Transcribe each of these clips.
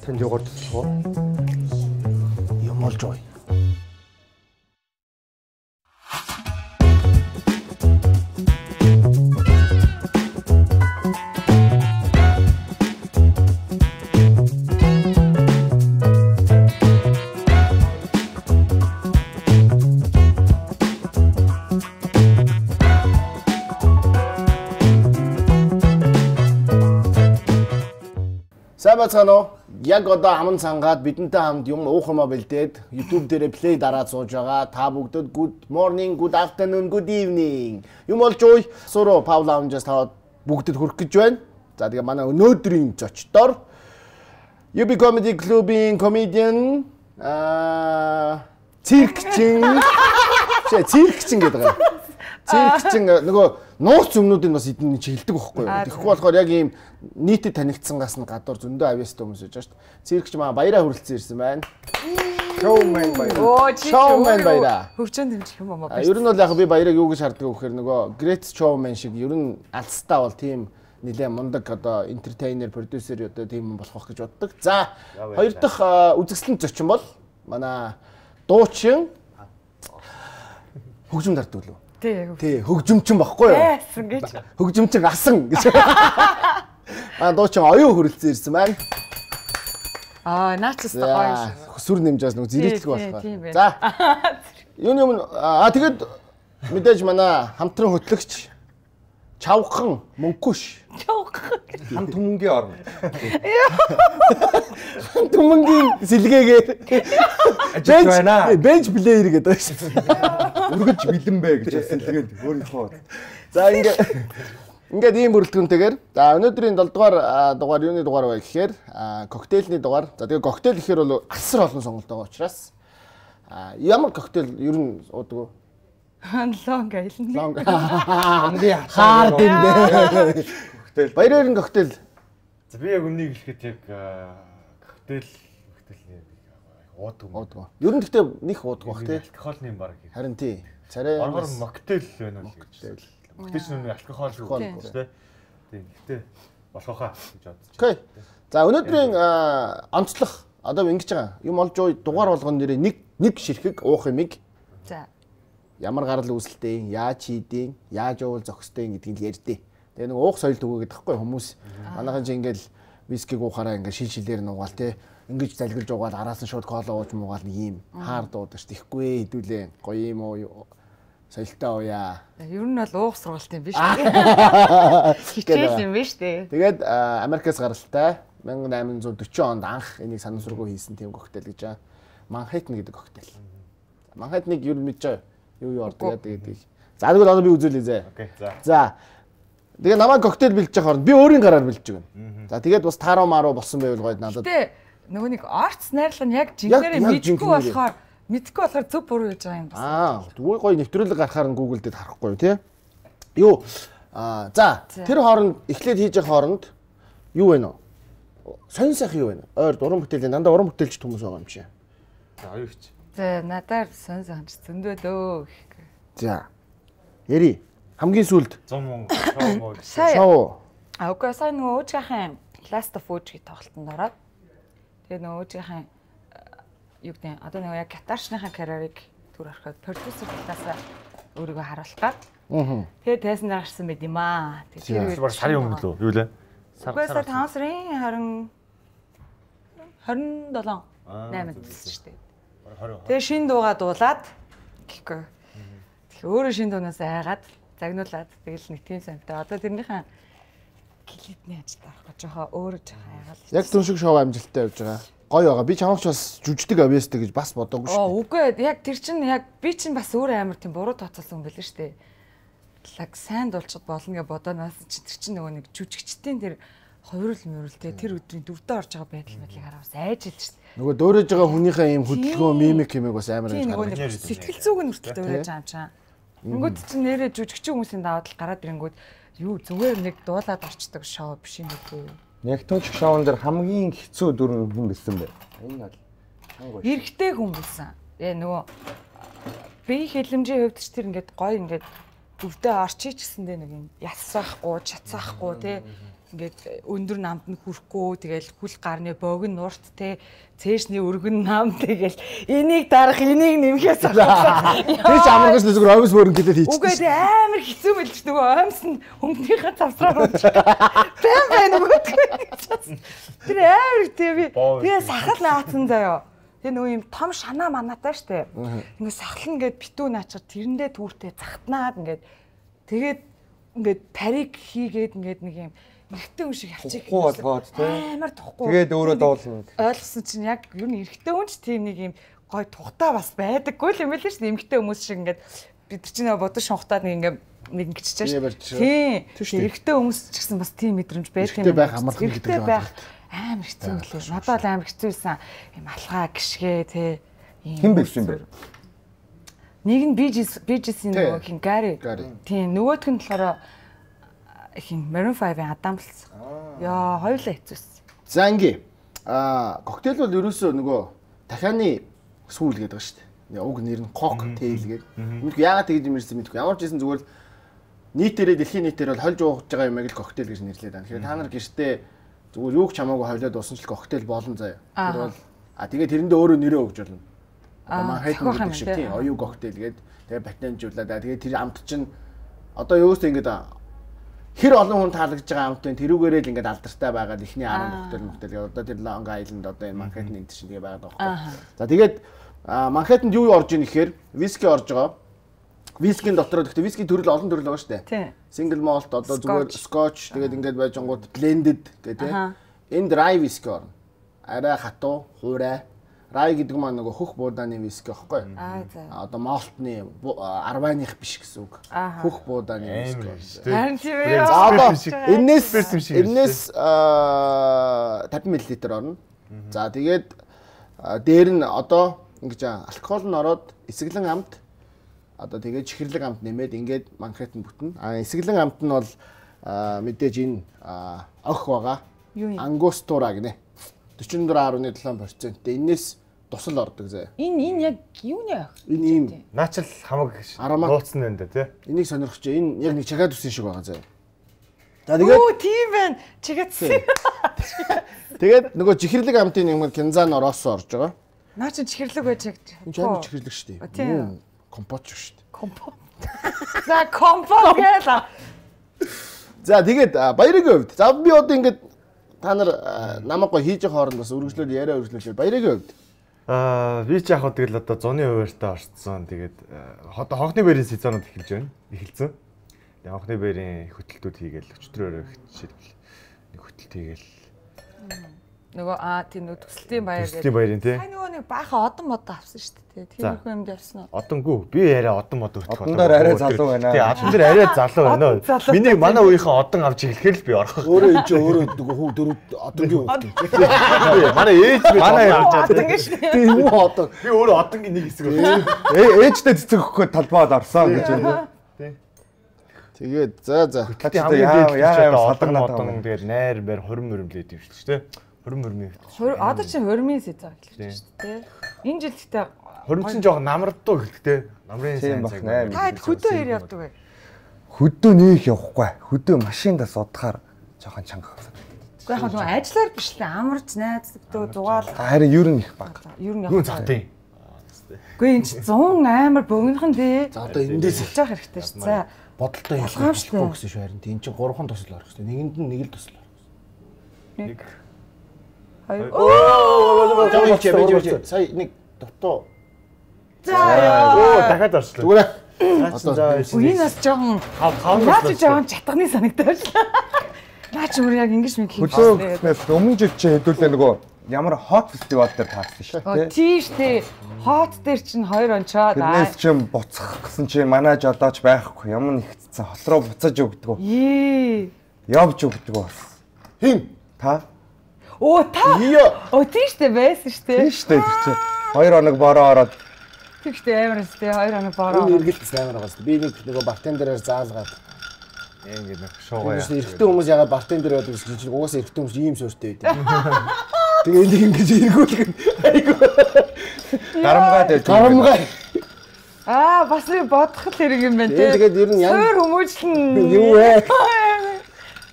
Танд юугаар туслах вэ? Юм олж ой. Бацгаано яг одоо аман цангаад бидэнтэй хамт юм уух юмаа бэлдээд YouTube дээрээ play дараад сууж байгаа. Та бүгдд good morning, good afternoon, good evening. Юм олж ууй. Суруу Pau Lounge-аас таваад бүгдд хүрэх гэж байна. За тэгээ манай өнөөдрийн зочдоор UB Comedy Club-ийн comedian циркчин гэдэг байгаа. Циркчин нөгөө нууц өмнүүдийг бас эдний чиглдэг байхгүй юу. Тэгэхгүй болохоор яг ийм нийтэд танигдсангаас нь гадуур зөндөө авьяастай хүмүүс байж байгаа шүү дээ. Циркч маа баяраа хүрэлцэн ирсэн байна. Showman баяраа. Showman баяраа. Хөгжөөнд дэмжих юм аа. Ер нь бол яг би баярыг юу гэж харддаг вэ гэхээр нөгөө Great Showman шиг ер нь алстаа бол тийм нэлээд мундаг одоо entertainer, producer одоо тийм болох гэж боддог. За хоёр дахь үзэсгэлэн зочин бол манай дуучин хөгжим дарддаг лөө. Тий, хөгжимчин баггүй юу? Асан гэж. Хөгжимчин асан гэж. Дуучин оюун хүрэлцэн ирсэн байна. Наач өстой гоё шүү. Сүр нэмжээс нэг зэрэгтлэг болохоор. За. Юуны тэгээд мэдээж манай хамтран хөтлөгч Чавхан Мөнхөш. Чавхан. Хамт хүмүүнгийн орно. Хамт хүмүүнгийн сэлгээгээр ажиж байна. Bench player гэдэг байна шүү дээ. Үргэлж бэлэн бэ гэж сэлгээд өөрийнхөө. За ингээд ийм бүрэлдэхүүнтэйгээр за өнөөдрийн 7 дугаар дугаар юуны дугаар вэ гэхээр коктейльний дугаар. За тэгээ коктейл гэхээр бол асар олон сонголт байгаа учраас ямар коктейл ер нь уудаг вэ? Long Island. Long. Hard юм бэ. Коктейл. Баярын коктейл. За би яг өмнөнийг хэлэхэд яг коктейл уудаг. Ер нь гэхдээ них уудаг бах тий. Алкогольны юм баг. Харин тий. Царай оргор моктейл байна уу гэж. Моктейл нь алкогол шүү дээ. Тийм. Гэхдээ болохоо гэж бодож байна. Окей. За өнөөдрийн онцлог одоо ингэж байгаа. Юм олж ууй дугаар болгоно нэрээ нэг ширхэг уух юмыг. За ямар гарал үүсэлтэй, яаж хийдیں, яаж уул зохистой гэдгийг ярьдээ. Тэгээ нэг уух соёл төгөөгээд тахгүй хүмүүс. Манайхан чи ингээл вискиг уухаараа ингээл шилшилээр нугаал те. Ингэж залгилж уугаад араас нь шууд кола ууж муугаал нэг юм хаард уудаг ш. Тэхгүй хэдүүлээ. Гоё юм уу? Соёлтой ууя. Ер нь бол уух сургалт юм биш үү? Хичээл юм биш үү? Тэгээд Америкаас гаралтай 1840 онд анх энийг санамсаргуу хийсэн тийм коктейл гэж байгаа. Манхэттен гэдэг коктейл. Манхэттнийг ер нь мэдж байгаа. Юу ордог гэдэг. За тэгвэл одоо би үзүүлээ зэ. Окей. За. За. Тэгээ намайг коктейл бэлдэж байгаа хооронд би өөрийн гараар бэлдэж байна. За тэгээд бас тааруу маруу болсон байвал гоё надад. Тэ нөгөө нэг орц найрлага нь яг жинхэнэ мэдхгүй болохоор зөв буруу гэж байгаа юм байна. Тэгвэл гоё нэвтрүүлэг гарахаар нь Google дээр харахгүй юу тий. Юу за тэр хооронд эхлээд хийж байгаа хооронд юу вэ нөө? Сонин сайхан юу вэ? Ойр уран бүтээлийн дандаа уран бүтээлч хүмүүс байгаа юм шиг. За оюуч. За надаар сонь санч зөндөө дөө гэх. За. Яри хамгийн сүүлд 100 мөнгө шоу. Окей, сайн нөгөө өөжгийнхээ Last of Us-ийг тоглолтод ороод тэгээ нөгөө өөжгийнхээ юу гэдэг одоо нөгөө яг гитарчныхаа карьерийг түр ороход продюсер талаас өөрийгөө харуулах гад. Тэгээ тайсан гарсан байд юм аа. Тэгээ тэр сарын өмнө лөө юу лээ? Сар 5 сарын 27 8-нд шүү дээ. Тэгээ шин дуугаа дуулаад гэхгүй. Тэгэхээр өөрөө шин дуунаас айгаад загнуулаад тэгэл нэг тийм сантай. Одоо тэрнийхэн клипний ажилд авах гэж байгаа өөрөө жоохон айгаал. Яг түн шиг шоу амжилттай явж байгаа. Гоё байгаа. Би чамаач бас жүжигдэг авьяастай гэж бас бодоогүй шүү дээ. Үгүй яг тэр чинь яг би чинь бас өөрөө амар тийм буруу тооцоолсон юм байл шүү дээ. Лаг сайн дуулчихад болно гэж бодоонаас чинь тэр чинь нөгөө нэг жүжигчдийн тэр хувирал мөрөлтэй тэр өдрийн дөрөвдөө орж байгаа байдал мэдлийг хараад бас айж илж шүү дээ. Нөгөө дөөрөж байгаа хүнийхээ юм хөдөлгөөн мимик юмэг бас амар гэж харагдаж. Сэтгэл зүйг нь хүртэл дөөрөж байгаа юм чам. Тэнгүүд чинь нэрээ жүжигчин хүмүүсийн даваад л гараад ирэнгүүд юу зүгээр нэг дуулаад орчдөг шоу биш юм үү? Яг түнч шоун дээр хамгийн хэцүү дүр хүн байсан бэ. Энэ бол эрэгтэй хүн байсан. Нөгөө бие хэлэмжийн хувьд ч тэр ингээд гоё ингээд өвдөө орчих гэсэндээ нэг юм ясаахгүй, чацаахгүй тий ингээд өндөр намд нь хүрэхгүй тэгэл хүл гарны богн нурт те цээжний өргөн нам тэгэл энийг дарах энийг нэмхээс болоо. Тэч амаргаш зүгээр оймс мөрөн гэлээд хийчих. Үгүй амар хэцүү мэлж нөгөө оймс нь өмнөхийнхээ завсраар унчих. Бэм бэн үгүй. Тэр амар тэгээ сахал наацсан заяа. Тэгээ нөгөө юм том шанаа манатай штэ. Ингээ сахал ингээд битүү наачаар тэрэндээ түүртэй захтнаад ингээд тэгээд ингээд парик хийгээд ингээд нэг юм эрэгтэй хүн шиг явчих. болгоод тий. Амар тухгүй. Тэгээд өөрөө дуулна. Ойлгосон чинь яг юу н эрэгтэй хүн ч тийм нэг юм гой тухтаа бас байдаггүй л юм байл шүү дээ. Эмэгтэй хүмүүс шиг ингээд бид нар чинь бодож шунхтаад нэг ингэччихэж шүү. Тийм. Эрэгтэй хүмүүс ч гэсэн бас тийм мэдрэмж байдаг юм. Эрэгтэй байх амархан гэдэг юм байна. Амар хэцүү лээ. Надад л амар хэцүүсэн. Юм алгаа гიშгээ тий. Хэн бивсэн бэ? Нэг нь BGS-ийн нөгөө хин Гари. Тийм. Нөгөөх нь болохоор хин Maroon 5-ийн Адам л. Яа, хоёулаа хэцүүсэн. За ингээ. Коктейл бол ерөөсөө нөгөө дахианы сүүл гэдэг ба шүү дээ. Уг нэр нь коктейл гэдэг. Үнэхээр яагаад тэгж юм ирсэн мэдэхгүй. Ямар ч байсан зүгээр нийтээрээ дэлхийн нийтээр бол хольж ууж байгаа юмыг л коктейл гэж нэрлэдэг байна. Тэгэхээр та нар гэртээ зүгээр юу ч хамаагүй хойлоод уусан ч коктейл болон заяа. Тэр бол тэгээд тэрэндээ өөрөө нэрээ өгж болно. Одоо Манхэттен гэдэг шиг тийм оюу коктейл гэдэг. Тэгээд патентжуулаад тэгээд тэр амт чинь одоо юустай ингээд хэр олон хүн таалагдж байгаа амт вэ? Тэрүүгээрээ л ингээд алдартай байгаа ихний 10 коктейл одоо тэр Long Island одоо энэ Манхэттен энэ чинь тэгээ байгаа байхгүй. За тэгээд Манхэттенд юу орж ийн гэхээр виски орж байгаа. Вискийн дотор гэхдээ виски төрөл олон төрөл байгаа шүү дээ. Single malt одоо зүгээр scotch тэгээд ингээд байж ангууд blended гэх тийм. Энэ dry whisky орно. Арай хатуу, хуурай. Rye гэдэг маань нөгөө хөх буудааны виски байхгүй. Одоо малтны арвайных биш гэсэн үг. Хөх буудааны виски. Харин тийм ээ. Одоо энэс 50 мл орно. За тэгээд дээр нь одоо ингэж алкогол нь ороод эсэглэн амт одоо тэгээд чихэрлэг амт нэмээд ингээд Манхэттен бүтэн. Эсэглэн амт нь бол мэдээж энэ ох байгаа. Ангустура гинэ. 44.7%. Энэс тусал ордог зэ. Энэ яг юуны ах? Энэ ийм наачл хамаг нууцсан байна да тий. Энийг сонирхож байна. Энэ яг нэг чагад үсэн шиг байгаа зэ. За тэгээд Оо тийм байна. Чигатсан. Тэгээд нөгөө чихэрлэг амтын юм кинзан ороос орж байгаа. Наа чи чихэрлэг байж яг. Энэ жаа чихэрлэг шүү дээ. Компот шүү дээ. Компот. За компот гэлээ. За тэгээд баярын хувьд. За би одоо ингээд та нар намайг гоо хийж явах хооронд бас үргэлжлүүл яриа үргэлжлүүлээ. Баярын хувьд. Би ч яг тэгэл одоо зуны хуваарьтаа орцсон. Тэгээд одоо хонхны бэрийн сезонод эхэлж байна. Эхэлсэн. Тэгээд хонхны бэрийн хөтөлтүүд хийгээл өчтөрөөр жишээлбэл нэг хөтөлт хийгээл. Нөгөө тийм нөгөө төсөлтийн баяр гэдэг. Төсөлтийн баярын тий. Нөгөө нэг баахан одон мод авсан шүү дээ. Тиймэрхүү юмд явсан уу? Одонгүй. Би яриа одон мод өртөх. Одон дээр арай залуу байна. Тий, одон дээр арай залуу байна. Миний манай үеийнхэн одон авч ирэхээр л би орох. Өөрөө энэ ч өөрөө хүү дөрөв одонгийн үг. Манай ээж би одон гэж. Тийм үү одон. Би өөрөө одонгийн нэг хэсэг байна. Ээжтэй цэцэг өгөхгүй талбайд орсон гэж байна. Тэгээд за. Яа одон тэгээд найр бэр 20 мөрөмлээд юм шүү дээ. 20 мөрмийн. Одоо чи 20-ийн сезон эхэлж шүү дээ. Энэ жил гэхдээ 20 чинь жоохон намрдуу гэлтэй. Намрын сайн цаг. Та хөдөө хэр явдаг вэ? Хөдөө нөх явахгүй. Хөдөө машиндаа содохоор жоохон чанга авсан. Уу яг нөгөө ажиллаар биш л амарч найздаг зугаал. Харин ер нь их баг. Ер нь Юу захтын. Үгүй энэ чи 100 амар богинохан дээ. За одоо эндээс хийж явах хэрэгтэй шүү. За бодолтой ялгаагүй гэсэн шүү харин. Энд чинь 3 тусал орох хэрэгтэй. Нэгэнд нь нэг л тусал орох. нэг Оо сая нэг дутуу. За яа. Дахиад орчлоо. Зүгээр. Энэ бас жоохон наач жоохон чатганы санагдаж байна. Наач өөр яг ингэж нэг хийх хөдөөснээс өмнө жил чи хэдүүлээ нөгөө ямар хот фестивал дээр таарсан шүү дээ. Тийм шүү дээ. Хот дээр чинь 2 онцоо. Тэрнээс чинь буцах гэсэн чинь манай жолооч байхгүй. Ямар нэгтсэн хот руу буцаж өгдөг. Явж өгдөг бас. Хин? Та? Оо та. Оо тийм шүү дээ байсан шүү дээ. Тийм шүү дээ тэр чинь 2 хоног бороо ороод тийм шүү дээ амар шүү дээ 2 хоног бороо. Энэ эргэлт амар байгаа шүү дээ. Би нэг нөгөө бартендерээр заалгаад Ингээд нэг шуугаа. Эрэгтэй хүмүүс ягаад бартендер байдаг гэж чинь угаасаа эрэгтэй хүмүүс ийм суурьтай байдаг. Тэгээ энийг ингэж эргүүлэх нь айгүй. Гарамгай дээр. Гарамгай. Бас нэг бодох хэрэг юм байна тий. Тэгээд ер нь суур хүмүүжлэн юу вэ?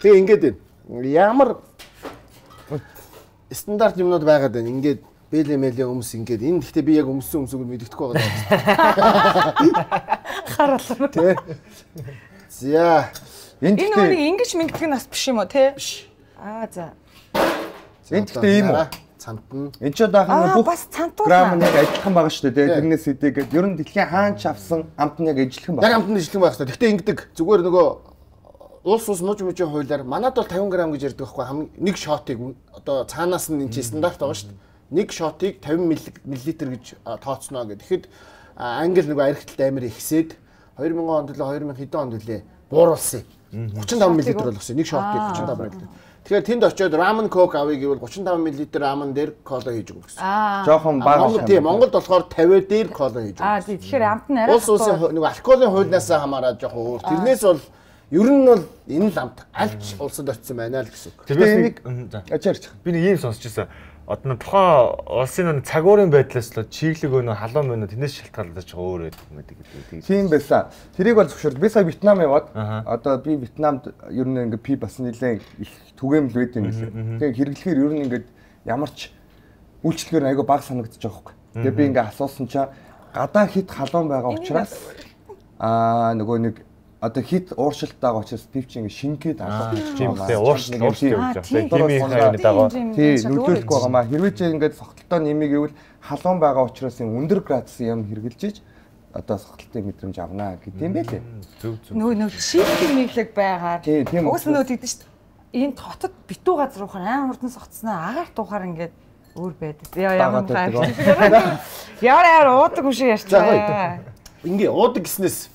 Тэгээ ингээд байна. Ямар стандарт юмнууд байгаад байна. Ингээд бэлэмэлээ өмс ингээд энэ гэхдээ би яг өмссөн өмсөг нь мэддэхгүй байгаа. Харуулна. Тэ. За. Энэ нэг ингэж мэддэг нас биш юм уу те? Биш. За. Энд гэхдээ ийм үү? Цант нь. Энд ч даахын бүх бас цантуур грамм нэг адилхан байгаа шүү дээ. Тэрнээс хэдийгээд ер нь дэлхийн хаанч авсан амт нь яг ижилхэн байна. Яг амтны ижилхэн байх хэрэгтэй. Гэхдээ ингэдэг зүгээр нөгөө улс мууж мужийн хуулиар манад бол 50 г гэж ярьдаг байхгүй нэг шотыг одоо цаанаас нь энэ чинь стандарт байгаа шүү дээ. Нэг шотыг 50 мл гэж тооцноо гэдэг. Тэгэхэд англи нөгөө архитэлт амир ихсээд 2000 онд төлөө 2000 хэдэн онд төлөө бууруулсан. 35 мл болгосон. Нэг шотыг 35 мл. Тэгэхээр тэнд очиод ramen coke авъя гэвэл 35 мл ramen дээр кола хийж өгнө гэсэн. Жохон бага. Тийм Монголд болохоор 50 дээр кола хийж өгнө. Тэгэхээр амт нь арай улс улсын нөгөө алкоголын хуулиас хамаараад жохон өөр. Тэрнээс бол ер нь бол энэ л амт альч улсад очсон байна л гэсэн үг. Тэгээ нэг ачаарч. Би нэг юм сонсч байсан. Одоо тухайн улсын цагуурын байдлаас л чиглэг өнө халуун мөнө тэрнээс шалтгаалж өөр байдаг. Тийм байсан. Тэрийг бол зөвшөөрөл. Би сая Вьетнам яваад одоо би Вьетнамд ер нь ингээ пи бас нэлээд их түгээмэл байд юм лээ. Тэгээ хэрэглэхээр ер нь ингээд ямар ч үйлчлэгээр айгүй бага санагдаж байгаа байхгүй. Тэгээ би ингээ асуусан чинь гадаа хит халуун байгаа учраас нөгөө нэг одоо хит ууршилт байгаа учраас пив чи ингээ шингээд алга тийм үү ууршилт явж байгаа. Химийн хайрны дагуу. Тий нөлөөлөхгүй байгаа маа. Хэрвээ чи ингээ согтолтоо нэмээ гэвэл халуун байгаа учраас өндөр градусын юм хэрглэж иж одоо согтолтын мэдрэмж авнаа гэдэг юм байлээ. Нөгөө шийдэх мэдлэг байгаад. Уус нөгөө тэгдэж шүү дээ. Энэ хотод битүү газар ухаар амар хурдан согтсноо агаар тухаар ингээд өөр байдаг. Ямар гайхалтай. Яар уудаг юм шиг ярьцгаа. Ингээ уудаг гэснээс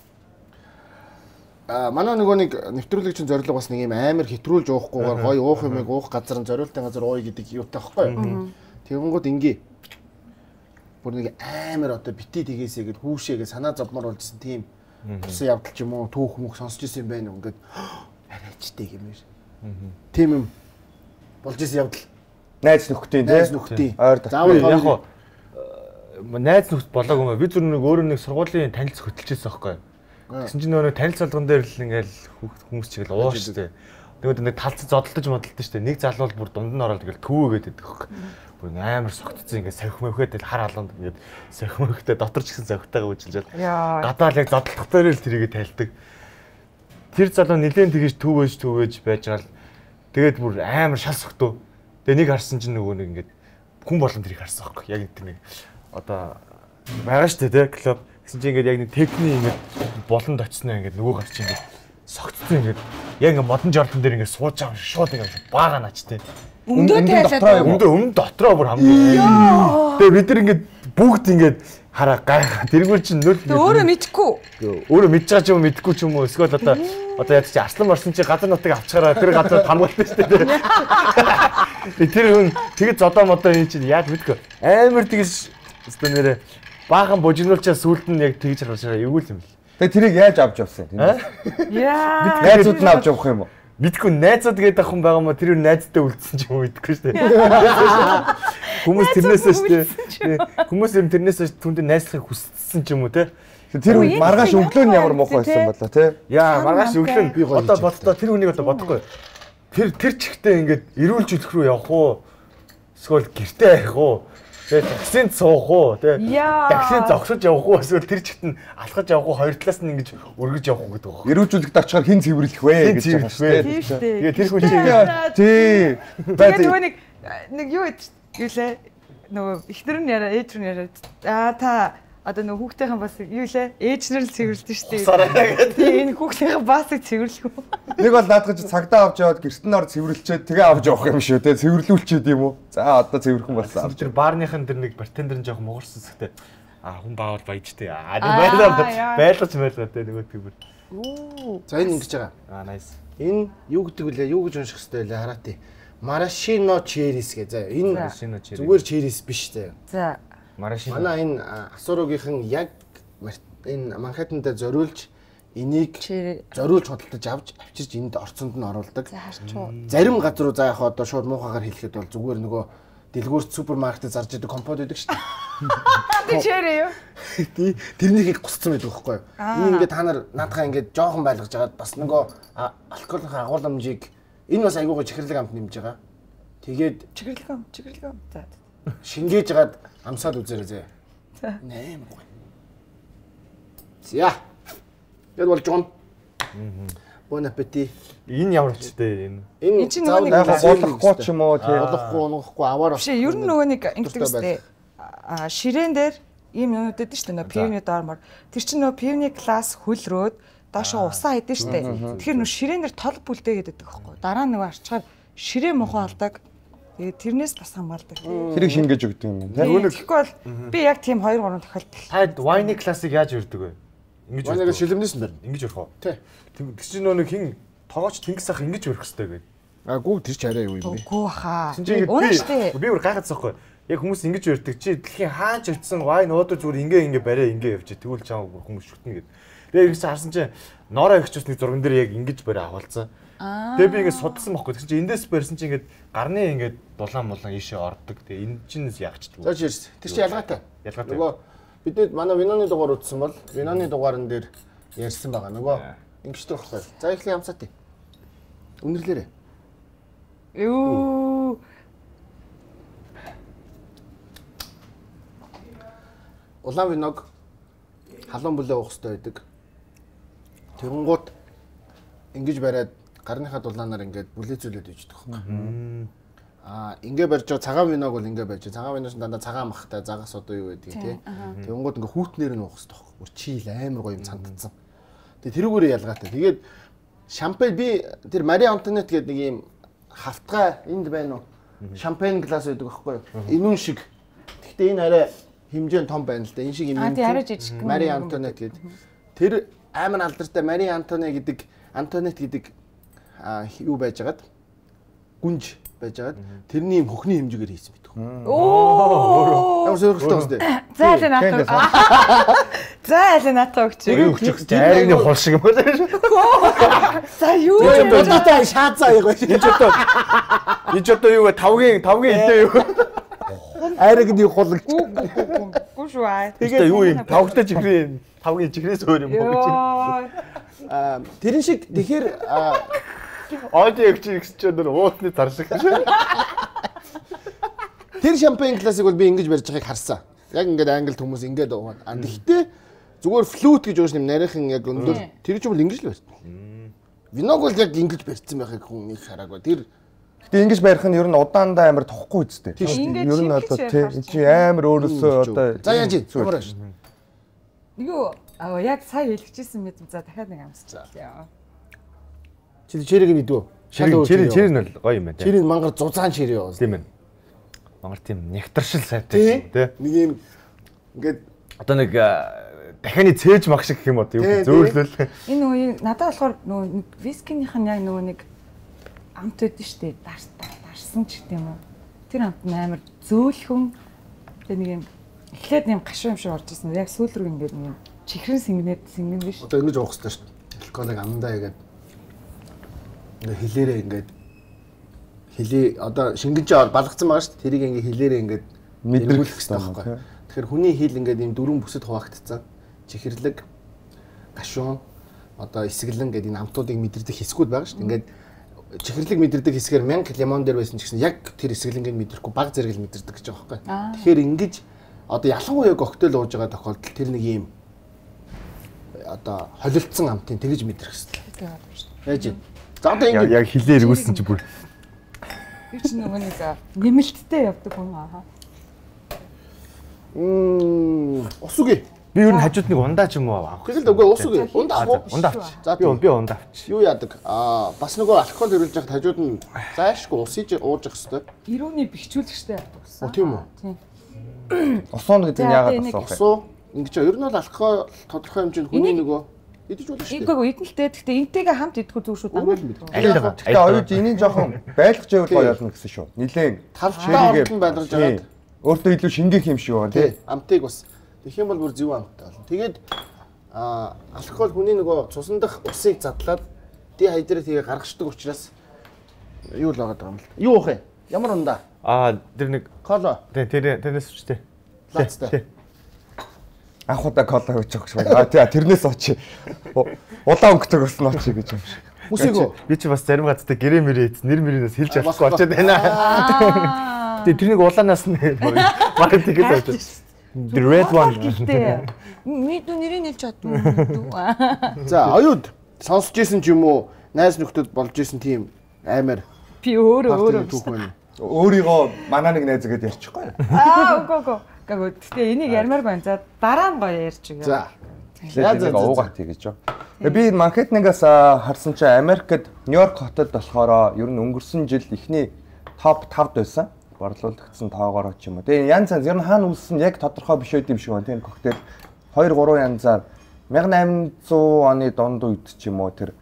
манай нөгөө нэг нэвтрүүлэгчийн зорилго бас нэг юм амар хэтрүүлж уухгүйгээр гоё уух юмыг уух газар нь зориултын газар ууя гэдэг юутай байхгүй. Тэгэнгүүт ингээ бүр нэг амар одоо бити тгээсэй гэд хүүшээгээ санаа зовмор болжсэн тийм тусан явдал ч юм уу түүх мөх сонсч ирсэн байх юм ингээд арайчтай гэмээр. Тийм юм болж ирсэн явдал. Найз нөхдийн тийм. Найз нөхдийн. Заавал яг хоо найз нөхд болоогүй маа. Би зөв нэг өөрөө нэг сургуулийн танилцах хөтөлчихсэн байхгүй. Гэсэн чинь нөгөө танилцуулган дээр л ингээл хүмүүс чигээл ууш штэ. Тэгээд нэг талцаж зодтолдож модтолдож штэ. Нэг залуу бүр дунд нь ороод ингээл төвөөгээд байдаг хөөх. Бүр амар согтцсон ингээл сахих мөхөд хар алганд ингээд сахих мөхөдөө дотор ч гэсэн сахихтайгаа үжилжээд гадаал яг зодтолдох дээр л тэрийгэ тайлдаг. Тэр залуу нилээн тэгэж төвөөж байж гал тэгээд бүр амар шал согтөө. Тэгээ нэг харсан чинь нөгөө нэг ингээд хүн болон тэрийг харсан байхгүй. Яг тэр нэг одоо байгаа штэ тий клуб. Гэсэн чинь ингээд яг нэг техник ингээд болонд очсноо ингээд нөгөө гарч ингээд согтцсон ингээд яг ингээд модон жолтон дээр ингээд сууж байгаа шууд ингээд баага наачтай. Өмнө дотроо бүр хамгийн. Тэгээ бид нар ингээд бүгд ингээд хараа гайхаа. Тэргүүр чинь нөл өөрөө мэдхгүй. Өөрөө мэдж байгаа ч юм мэдхгүй ч юм уу. Эсвэл одоо яд чи арслан марсан чи газар нутгийг авчаараа тэр газар хамгаалдаг шүү дээ. Тэр хүн тэгэд зодоо модоо юм чинь яаж мэдгүй. Амар тэгэж өстө нэрэ баахан бужигнуулчаа сүулт нь яг тэгж харахшаа эвгүй юм бэл. Тэгээ тэрийг яаж авч явсан юм? Яа. Найзууд нь авч явах юм уу? Мэдгүй найзууд гэдэг ах хүн байгаа мó тэр найзтай үлдсэн ч юм уу мэдгүй шүү дээ. Хүмүүс тэрнээсээ шүү дээ. Хүмүүс юм тэрнээсээ түндэ найзлахыг хүссэн ч юм уу те. Тэр маргааш өглөө нь ямар муухай байсан болоо те. Яа маргааш өглөө нь одоо боддоо тэр хүнийг одоо бодохгүй. Тэр чихтэй ингээд эрүүл жүлх рүү явах уу? Эсвэл гэртээ арих уу? Тэгээд таксинд суух уу? Таксинд зогсож явах уу? Эсвэл тэр чихт нь алхаж явах уу? Хоёр талаас нь ингэж өргөж явах уу гэдэг байна. Эрүүжүүлэгт очихоор хэн цэвэрлэх вэ гэж байгаа шүү дээ. Тэгээд тэр хүн чинь тий. Тэгээд нөгөө нэг юу гэлээ нөгөө ихнэр нь яриа ээж нь яриа та одоо нөгөө хүүхдийнхэн бас юу лээ ээжнэр л цэвэрлдэг шүү дээ. Тийм энэ хүүхдийнхэн бас цэвэрлэх үү? Нэг бол наадгаж цагдаа авч яваад гэртэн ор цэвэрлчээд тэгээ авч явах юм шүү те. Цэвэрлүүлчихэд юм уу? За одоо цэвэрхэн болсон. Тэр баарныхан тэр нэг бартендер нь жоохон муурсан зүгтээ. Хүн баавал баяжтэй. Байлгаж те нөгөө тэгвэр. За энэ ингэж байгаа. Nice. Энэ юу гэдэг вүлээ? Юу гэж унших хэрэгтэй вэ? Хараати. Maraschino cherries гэ. За энэ зүгээр cherries биш заяа. За Maraschino. Манай энэ Асурогийн яг энэ Манхэттенд зориулж энийг зориулж хөдөлж авчирч энд орцонд нь оруулдаг. Зарим газар руу за яг одоо шууд муухагаар хэлэхэд бол зүгээр нөгөө дэлгүүрт супермаркетд зарж идэг компот байдаг шүү Би чирээ юу? дээ. Тэрнийг гусцсан байдаг байхгүй юу? Энэ ингээд та нар наадхаа ингээд жоохон байлгаж хагаад бас нөгөө алкоголын агуулмжийг энэ бас айгуугаа чихэрлэг амт нэмж байгаа. Тэгээд чигэрлэг ам. За. шингээж хагаад амсаад үзээрэй зэ. За. Нෑм гоё. За. Яд болж гон. Bon appétit. Энэ ямар ч дээ энэ. Энэ чинь нөгөө нэг болохгүй ч юм уу тий. болохгүй унахгүй аваар. Биш ер нь нөгөө нэг ингэдэг үстэй. Ширээн дээр ийм юмуд өгдөө шүү дээ. Нөгөө пивны доормор. Тэр чинь нөгөө пивны класс хөлрөөд доошоо усаа хийдэж шүү дээ. Тэгэхээр нөгөө ширээн дээр тол бүлдээ гэдэг байхгүй. Дараа нөгөө арчгаар ширээ мохоо алдаг. Тэгээд тэрнээс бас хамгаалдаг. Тэрийг шингээж өгдөг юм байна. Тэгэхгүй бол би яг тийм 2 3 тохиолдол. Таад вайны классыг яаж өрдөг вэ? Ингэж Манайга шилэмнээс нь байна. Ингэж өрөх үү? Тий. Тэг чи нөгөө хин тоогооч тэнгис ах ингэж өрөх хэрэгтэй гэдэг. Гүү тэр ч арай юу юм бэ? Үгүй хаа. Унаа би бүр гайхацсан байхгүй. Яг хүмүүс ингэж өрдөг чи дэлхийн хаанч өртсөн вайн өөдөө зүгээр ингээ бариа ингээ явж тэгвэл чам хүмүүс шүтнэ гэд. Тэгээ ирсэн харсан чи ноороо ихч усны зурган дээр яг ингэж бариа авалцсан. Тэгээ би ингэ судсан байхгүй. Тэг чи эндээс барьсан чи ингээд гарны ингээд дулаан ийшээ ордог. Тэгээ энэ чинээс ягчдаг. За чирс. Тэр чи ялгаатай. Ялгаатай. Нөгөө бид манай виноны дугаар утсан бол виноны дугаарн дээр ярьсан байгаа. Нөгөө ингэжтэй байхгүй. За ихлэ ямцаатыг. Үнэрлээрээ. Юу. Улаан виног халуун бүлээ уух хэрэгтэй байдаг. Тэгэнгუთ ингэж бариад гарныхаа дулаанаар ингээд бүлээцүүлээд иждэг байхгүй. Ингээ барьж байгаа цагаан виног бол ингээ барьж. Цагаан виноос дандаа цагаан махтай загас одоо юу гэдэг тий. Тэгэнгუთ ингээ хүүтнээр нь уух хэрэгтэй байхгүй. Бүр чийл амар гоё юм цандцсан. Тэгээ тэрүүгээр ялгаатай. Тэгээд шампань би тэр Мари Антонет гэдэг нэг юм хавтгай энд байна уу? Шампань глас байдаг байхгүй юу? Энүүн шиг. Гэхдээ энэ арай хэмжээ нь том байна л да. Энэ шиг юм. Тий арай жижиг. Мари Антонет гэдэг. Тэр амар алдартай Мари Антонет гэдэг юу байжгаад гүнж байжгаад тэрний юм хөхний хэмжээгээр хийсэн байдаг. Оо. Ямар сөрөгтэй байна дээ. За аль натаа. За аль натаа өгч. Өгч дайрны хол шиг юм байна. За юу юм бэ? Та шаацаа яг байна. Энд ч одоо юу вэ? Тавгийн эдээ юу? Айрагны хулгч. Гүн шүү аа. Тэгээд юу юм? Тавгтай чихрээ тавгийн чихрээс өөр юм уу гэж. Тэрэн шиг тэгэхээр Аудио өгч өнөр уутны зар шиг. Тэр шампань классик бол би ингэж барьж байгааг харсан. Яг ингээд англи хүмүүс ингээд уугаад. Гэхдээ зүгээр флют гэж ууш нэм нарийнхан яг өндөр тэр ч бол ингэж л барьсан. Виног бол яг ингэж барьсан байхыг хүн их хараагүй. Тэр Гэтэ ингэж барих нь ер нь удаандаа амар тохгүй үстэй. Ер нь одоо тий чи амар өөрөөсөө одоо за яаж ямар ааш. Юу яг сая хэлчихсэн мэт за дахиад нэг амсчихлаа. Чи чирэг нь идв үү? Чирэг нь гоё юм байна. Чирэг мангар зузаан чирэг юу? Тийм ээ. Мангар тийм нектаршил сайтай тий. Нэг юм ингээд одоо нэг дахианы цээж мах шиг гэх юм уу юу зөөлөл. Энэ үе надад болохоор нөгөө вискинийх нь яг нөгөө нэг амт өгдөн штэ дарсан ч гэдэм үү. Тэр амт амар зөөлхөн тэгээ нэг юм эхлээд юм гашуун юм шиг орж ирсэн. Яг сүүл рүү ингээд нэг чихрэн сингэн биш. Одоо ингэж уух хэрэгтэй штэ. Алкоголыг амандаа ягаад ингээ хилээрээ ингээд хилээ одоо шингэж балгацсан байгаа шүү дээ. Тэрийг ингээ хилээрээ ингээд мэдрүүлэх хэрэгтэй байхгүй. Тэгэхээр хүний хил ингээд ийм дөрвөн бүсэд хуваагдцсан. Чихэрлэг, гашуун, одоо эсгэлэн гэдэг энэ амтуудыг мэдэрдэг хэсгүүд байгаа шүү дээ. Ингээд чихэрлэг мэдэрдэг хэсгээр 1000 лимон дээр байсан ч гэсэн яг тэр эсгэлэнгийг мэдрэхгүй баг зэрэг л мэдэрдэг гэж байгаа байхгүй. Тэгэхээр ингэж одоо ялангуяа коктейл ууж байгаа тохиолдолд тэр нэг ийм одоо холилдсон амтын тэгж мэдрэх хэрэгтэй. Яаж юм? За одоо ингэ яг хилээр ирүүлсэн чи бүр би ч нөгөө нэг нэмэлттэй явдаг хүн аа. Ус үгүй. би ер нь хажууд нэг ундаа ч юм уу авах. Тэгэл үгүй ус үгүй. Ундаа авах. Ундаа авч. За би ундаа авч. Юу яадаг? Бас нөгөө алкогол хөрүүлж яхад хажууд нь зайшгүй ус иж ууж явах хэрэгтэй. Ирүүний бэхжүүлэгчтэй явдаг гэсэн. Тийм үү? Тийм. Усан гэдэг нь яагаад асуух вэ? Усуу ингэж ер нь бол алкогол тодорхой хэмжээнд хүний нөгөө идэж болно шүү дээ. Ийггүй идэлтэй. Гэхдээ энтэйгээ хамт идэх үү шүү дээ. Гэхдээ оюуж энийг жоохон байлгаж байвал гоё болно гэсэн шүү. Нилээн талчтай ордон байлгаж байгаа. Өөртөө илүү шингээх юм шиг байна тий. Амтыг бас тэгэх юм бол бүр зөв амттай болно. Тэгээд алкогол хүний нөгөө цусан дах усыг задлаад дихайдрат хийгээ гаргацдаг учраас юу л байгаа юм л. Юу уух юм? Ямар ундаа? Тэр нэг Коло. тэрнээс өчтэй. Лацтай. Анх удаа кола гэж байгаа шүү. Тэрнээс очи. Улаан өнгөтэйг бас ночи гэж юм шиг. Үсээгөө. Би чи бас зарим газар гэрээ мэрээ нэр мэрээс хэлж авахгүй очиад байна. Тэрнийг улаанаас нь маркетинг гэж бодож. The red one. Мэдүү нэрийг хэлж чадна. За, оюуд сонсож исэн ч юм уу, найз нөхдөд болж исэн тийм амар Би өөрөө түүх байна. Өөрийгөө манаа нэг найз гэдээ ярьчихгүй. Үгүй. Гэхдээ энийг ярмаар байна. За дараа нь гоё ярьж өгье. За. Тэгээд уугаад тэгэж юу. Би Манхэттенгаас харсан чинь Америкт Нью-Йорк хотод болохоор ер нь өнгөрсөн жил ихний топ 5-д байсан. Борлуулагдсан тоогоор ч юм уу. Тэгээ янз янз ер нь хаана үлсэн яг тодорхой биш байд юм шиг байна. Тийм коктейл 2-3 янзаар 1800 оны дунд үед ч юм уу тэр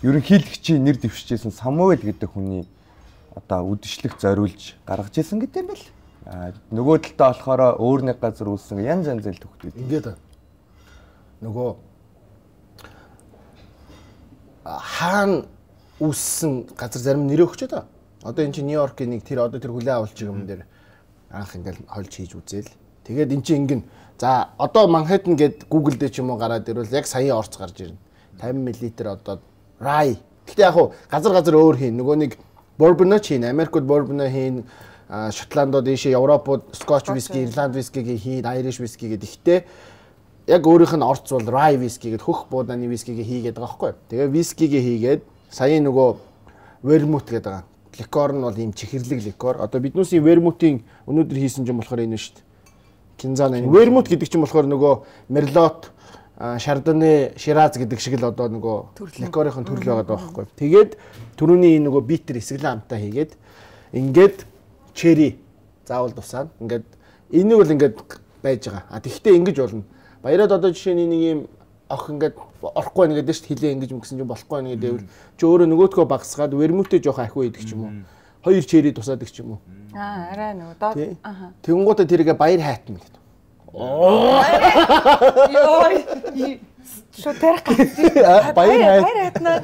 ерөнхийлөгчийн нэр дэвшижсэн Самуэль гэдэг хүний одоо үдшилэг зориулж гаргаж ирсэн гэдэг юм бэл. Нөгөө талдаа болохоор өөр нэг газар үлсэн янз янз л төгтөд. Ингээд нөгөө хаан үлсэн газар зарим нэр өгч одоо. Одоо энэ чинь Нью-Йоркийн нэг тэр хүлээн авалт юм дээр анх ингээл хольж хийж үзээл. Тэгээд эн чинь ингэн за одоо Манхэттен гээд Google дээр ч юм уу гараад ирвэл яг саяын орц гарч ирнэ. 50 мл одоо rye. Гэхдээ яг хуу газар өөр хийн. Нөгөө нэг bourbon хийн, Америкт bourbon хийн, Шотландод ийшээ Европод Scotch whisky, Ireland whisky хийн, Irish whisky гэдэг. Гэхдээ яг өөрийнх нь орц бол rye whisky гэдэг хөх буудааны whisky-г хийгээд байгаа байхгүй. Тэгээ whisky-г хийгээд саяын нөгөө vermouth гэдэг байгаа. Ликор нь бол ийм чихэрлэг ликор. Одоо биднүүсийн вермутийн өнөөдөр хийсэн юм болохоор энэ шүү дээ. Кинзана энэ вермут гэдэг чинь болохоор нөгөө Мерлот, Шардоне, Шираз гэдэг шиг л одоо нөгөө ликорын төрөл байгаа байхгүй. Тэгээд түрүүний нөгөө битер эсгэлэн амтаа хийгээд ингээд чери заавал тусаад ингээд энийг бол ингээд байж байгаа. Тэгэхдээ ингэж болно. Баяраад одоо жишээ нь нэг ийм ох ингээд орохгүй байна гэдэг шүү дээ. Хилээ ингэж мгсэн чинь болохгүй байна гэдэг. Чи өөрөө нөгөөдгөө багсгаад вермүтээ жоох ахиу идэг ч юм уу. Хоёр чери тусаадаг ч юм уу. Арай нөгөө доод Тэгэнгүүтээ тэргээ баяр хайтна гэдэг. Йоо. Шо тэрх баяр хайтна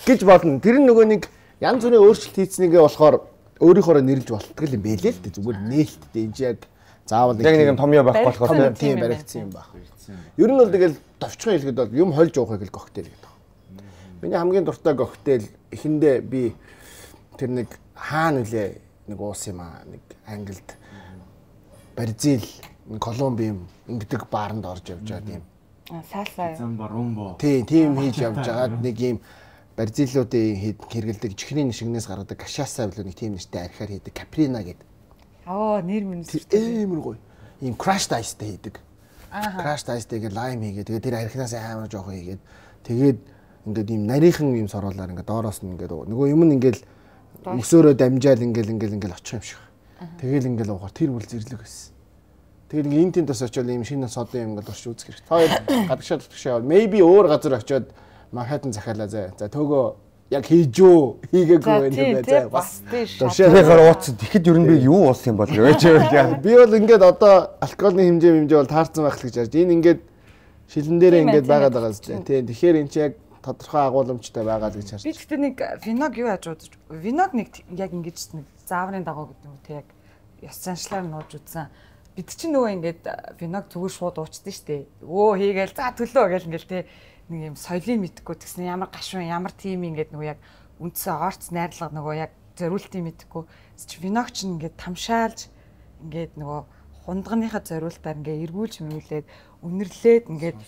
гэж болно. Тэр нөгөө нэг янз бүрийн өөрчлөлт хийцнийгээ болохоор өөрийнхөө нэрлж болтгол юм бэлээ л дээ. Зүгээр нээлттэй энэ яг заавал яг нэг юм томьёо байхгүй болохоор тийм баригдсан юм байна. Ер нь бол тэгэл товчхон хэлгээд бол юм хольж уухыг л коктейл гэдэг. Миний хамгийн дуртай коктейл эхэндээ би тэр нэг хаана үлээ нэг уус юм аа нэг Англид Бразил Колумби ингэдэг бааранд орж явж байгаа тийм. Саасаа. Замбарумбо. Тийм хийж явж байгаад нэг юм Бразилуудын хэрэгэлдэг чихрийн шигнээс гаргадаг гашаасаа билүү нэг тийм нэртэй архиар хийдэг каприна гэдэг. Нэр минь амар гоё. Ийм crushed ice-тэй хийдэг. Crushed ice-тэйгээ lime хийгээд тэгээд тэр архинаас амар жоох хийгээд тэгээд ингээд ийм нарийнхан ийм сороолаар ингээд доороос нь ингээд нөгөө юм нь ингээд өсөөрөө дамжаал ингээд очих юм шиг. Тэгэл ингээд уугаар тэр бүр зэрлэг байсан. Тэгээд ингээд энэ тентос очиод ийм шинэ содын юм ингээд урш үзэх хэрэгтэй. Хоёр гадагшаад утгашаа maybe өөр газар очиод Манхэттен захиалаа заа. За töөгөө яг хийжөө хийгээгүй байх юм байна. Бас тийш. Дуршаагаар ууц тэгэхэд ер нь би юу уусан юм бол гэж яа. Би бол ингээд одоо алкогны хэмжээ бол таарсан байх л гэж харж. Энэ ингээд шилэн дээрээ ингээд байгаад байгаа зү. Тийм. Тэгэхээр энэ чинь яг тодорхой агуулмжтай байгаа л гэж харж. Би гэхдээ нэг виног юу яаж уудаж. Виног нэг яг ингэж нэг зааврын дагуу гэдэг юм те яг ёс заншлаар нууж үзсэн. Бид чинь нөгөө ингээд виног зүгээр шууд уучдээ штэ. Хийгээл за төлөө гэл ингээл те нэг юм соёлын мэдхгүй тэгсэн ямар гашуун ямар тим ингээд нөгөө яг үндсэн орц найрлага нөгөө яг зориултыг мэдхгүй виног ч ингээд тамшаалж ингээд нөгөө хундганыхаа зориултаар ингээд эргүүлж мөрүүлээд үнэрлээд ингээд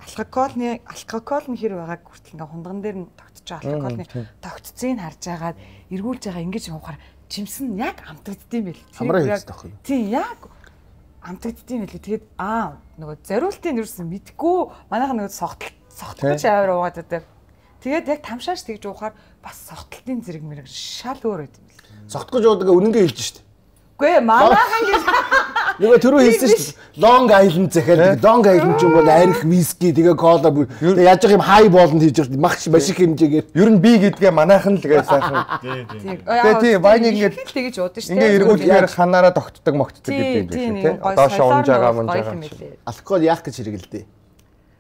алкогол нь хэр байгааг хүртэл ингээд хундган дээр нь тогтчих алкоголны тогтцыг харж агаад эргүүлж байгаа ингэж явахаар жимсэн яг амтагддсан байл. Хамраа хийдэг байхгүй. Тийм яг амтагддсан байл. Тэгээд нөгөө зориултыг нэрсэн мэдгүй манайха нөгөө согтолч аваар уугаад байдаг. Тэгээд яг тамшааш тэгж уухаар бас согтолтын зэрэг мэрэг шал өөр байд юм бэл. Согтгож уудаг үнэнгээ хэлж штт. Үгүй ээ манайхан гэж нөгөө түрүү хэлсэн штт. Long Island захиалдаг. Long Island ч юм бол арх виски тэгээ кола тэгээ яаж их юм хай болонд хийж байгаа маш их хэмжээгээр. Ер нь би гэдгээ манайхан л тэгээ сайхан. Тийм вайныг ингээд тэгж уудаг штт. Ингээ эргүүлэхээр ханаараа тогтдог могтдог гэдэг юм шиг тийм. Доошо унж байгаа мөн жаа. Алкогол яах гэж хэрэгэлдэ.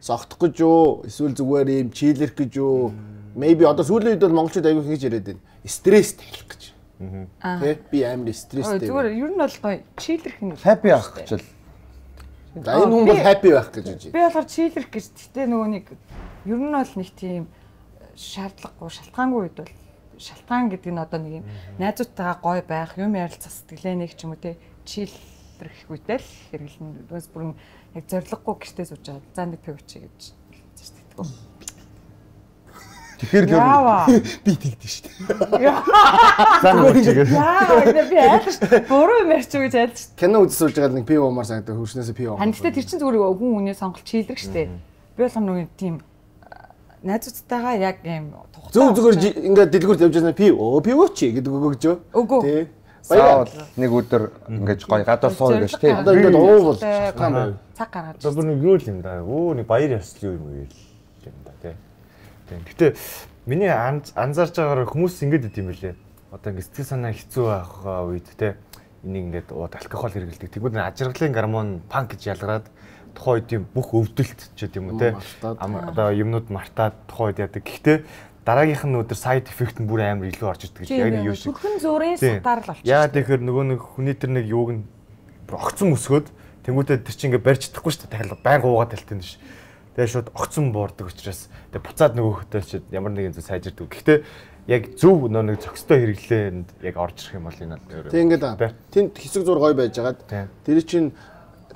Согтох гэж юу? Эсвэл зүгээр юм чилэрх гэж юу? Maybe одоо сүүлийн үед бол монголчууд аягүй хийж яриад байна. Стресс тайлах гэж. Тэ би амар стресстэй. Зүгээр ер нь бол гоё чийлэрх нь happy авах гэж л. За энэ хүн бол happy байх гэж байна. Би болохоор чийлэрх гэж тэгтээ нөгөө нэг ер нь бол нэг тийм шаардлагагүй шалтгаангүй үед бол шалтгаан гэдэг нь одоо нэг юм найзуудтайгаа гоё байх, юм ярилцах сэтгэлээ нэг ч юм уу те чийлэрх үедээ л хэрэглэн бас бүрэн яг зориггүй гэртээ сууж байгаа. За нэг пив чи гэж тэгтгүү. Тэгэхээр би тэгдэж шүү дээ. Яа би айлш буруу юм ярьчих гэж айлш. Кино үзэж сууж байгаа нэг пив уумаар санагдав хөрснөөс пив уу. Ханьтай тэр чинь зүгээр хүн үнээ сонголт чийлэрх штэ. Би болох нэг тийм найзуудтайгаа яг юм зөв зүгээр ингээд дэлгүүрт явж байгаа пив чи гэдэг өгөөж. Тий. Баяр нэг өдөр ингэж гоё гадар сууж гэж тий. Одоо ингээд уувал цаг гаргаж. Одоо бүр нэг юу юм да. Өө нэг баяр ёслол юм уу юм да тий. Гэтэ миний анзаарч байгаагаар хүмүүс ингэдэг юм билээ. Одоо ингэ сэтгэл санаа хэцүү байх үед те энийг ингээд алкогол хэрэглэдэг. Тэгвэл ажиргалын гормон панк гэж ялгараад тухайн үеийн бүх өвдөлт ч гэдэм юм те. Одоо юмнууд мартаад тухайн үед яадаг. Гэхдээ дараагийнх нь өдөр сайд эффект нь бүр амар илүү орж ирдэг гэж яг нэг юу шиг. Сүрхэн зүрийн сатаар л болчих. Яа тэгэхээр нөгөө нэг хүний тэр нэг юуг нь огцон өсгөөд тэнгуүтээ тэр чинь ингээд барьж чадахгүй шүү дээ. Дахиад байнга уугаад талтын ш. Тэгээ шууд огцон буурдаг учраас тэгээ буцаад нөгөөхтэй ч ямар нэгэн зүйл сайжирдаг. Гэхдээ яг зөв нэг зөкстэй хэрэглээнд яг орж ирэх юм бол энэ бол тийм ингээд тэнд хэсэг зур гой байж байгаад тэр чинь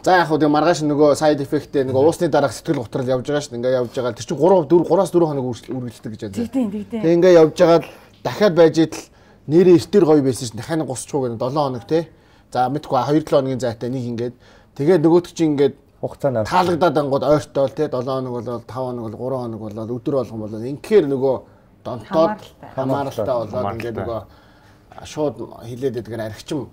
за яг хөө тэгээ маргааш нөгөө сайд эффекттэй нөгөө уусны дараах сэтгэл готрол явж байгаа шүү дээ. Ингээд явж байгаа. Тэр чинь 3-4 хоног үргэлжлэдэг гэж байна. Тийм. Тэгээ ингээд явж байгаад дахиад байж идэл нэрээ эртэр гоё байсан чинь дахиад гусчихгүй гэнэ 7 хоног тий. За мэдгүй 2-7 хоногийн зайтай нэг ингээд тэгээд нөгөөт чинь ингээд хугацаанд таалагдаад ангууд ойртол тий 7 хоног болоод 5 хоног бол 3 хоног болоод өдөр болгон болоод инхээр нөгөө донтоод хамааралтай болоод ингээд нөгөө шууд хилээд идэгэр архичим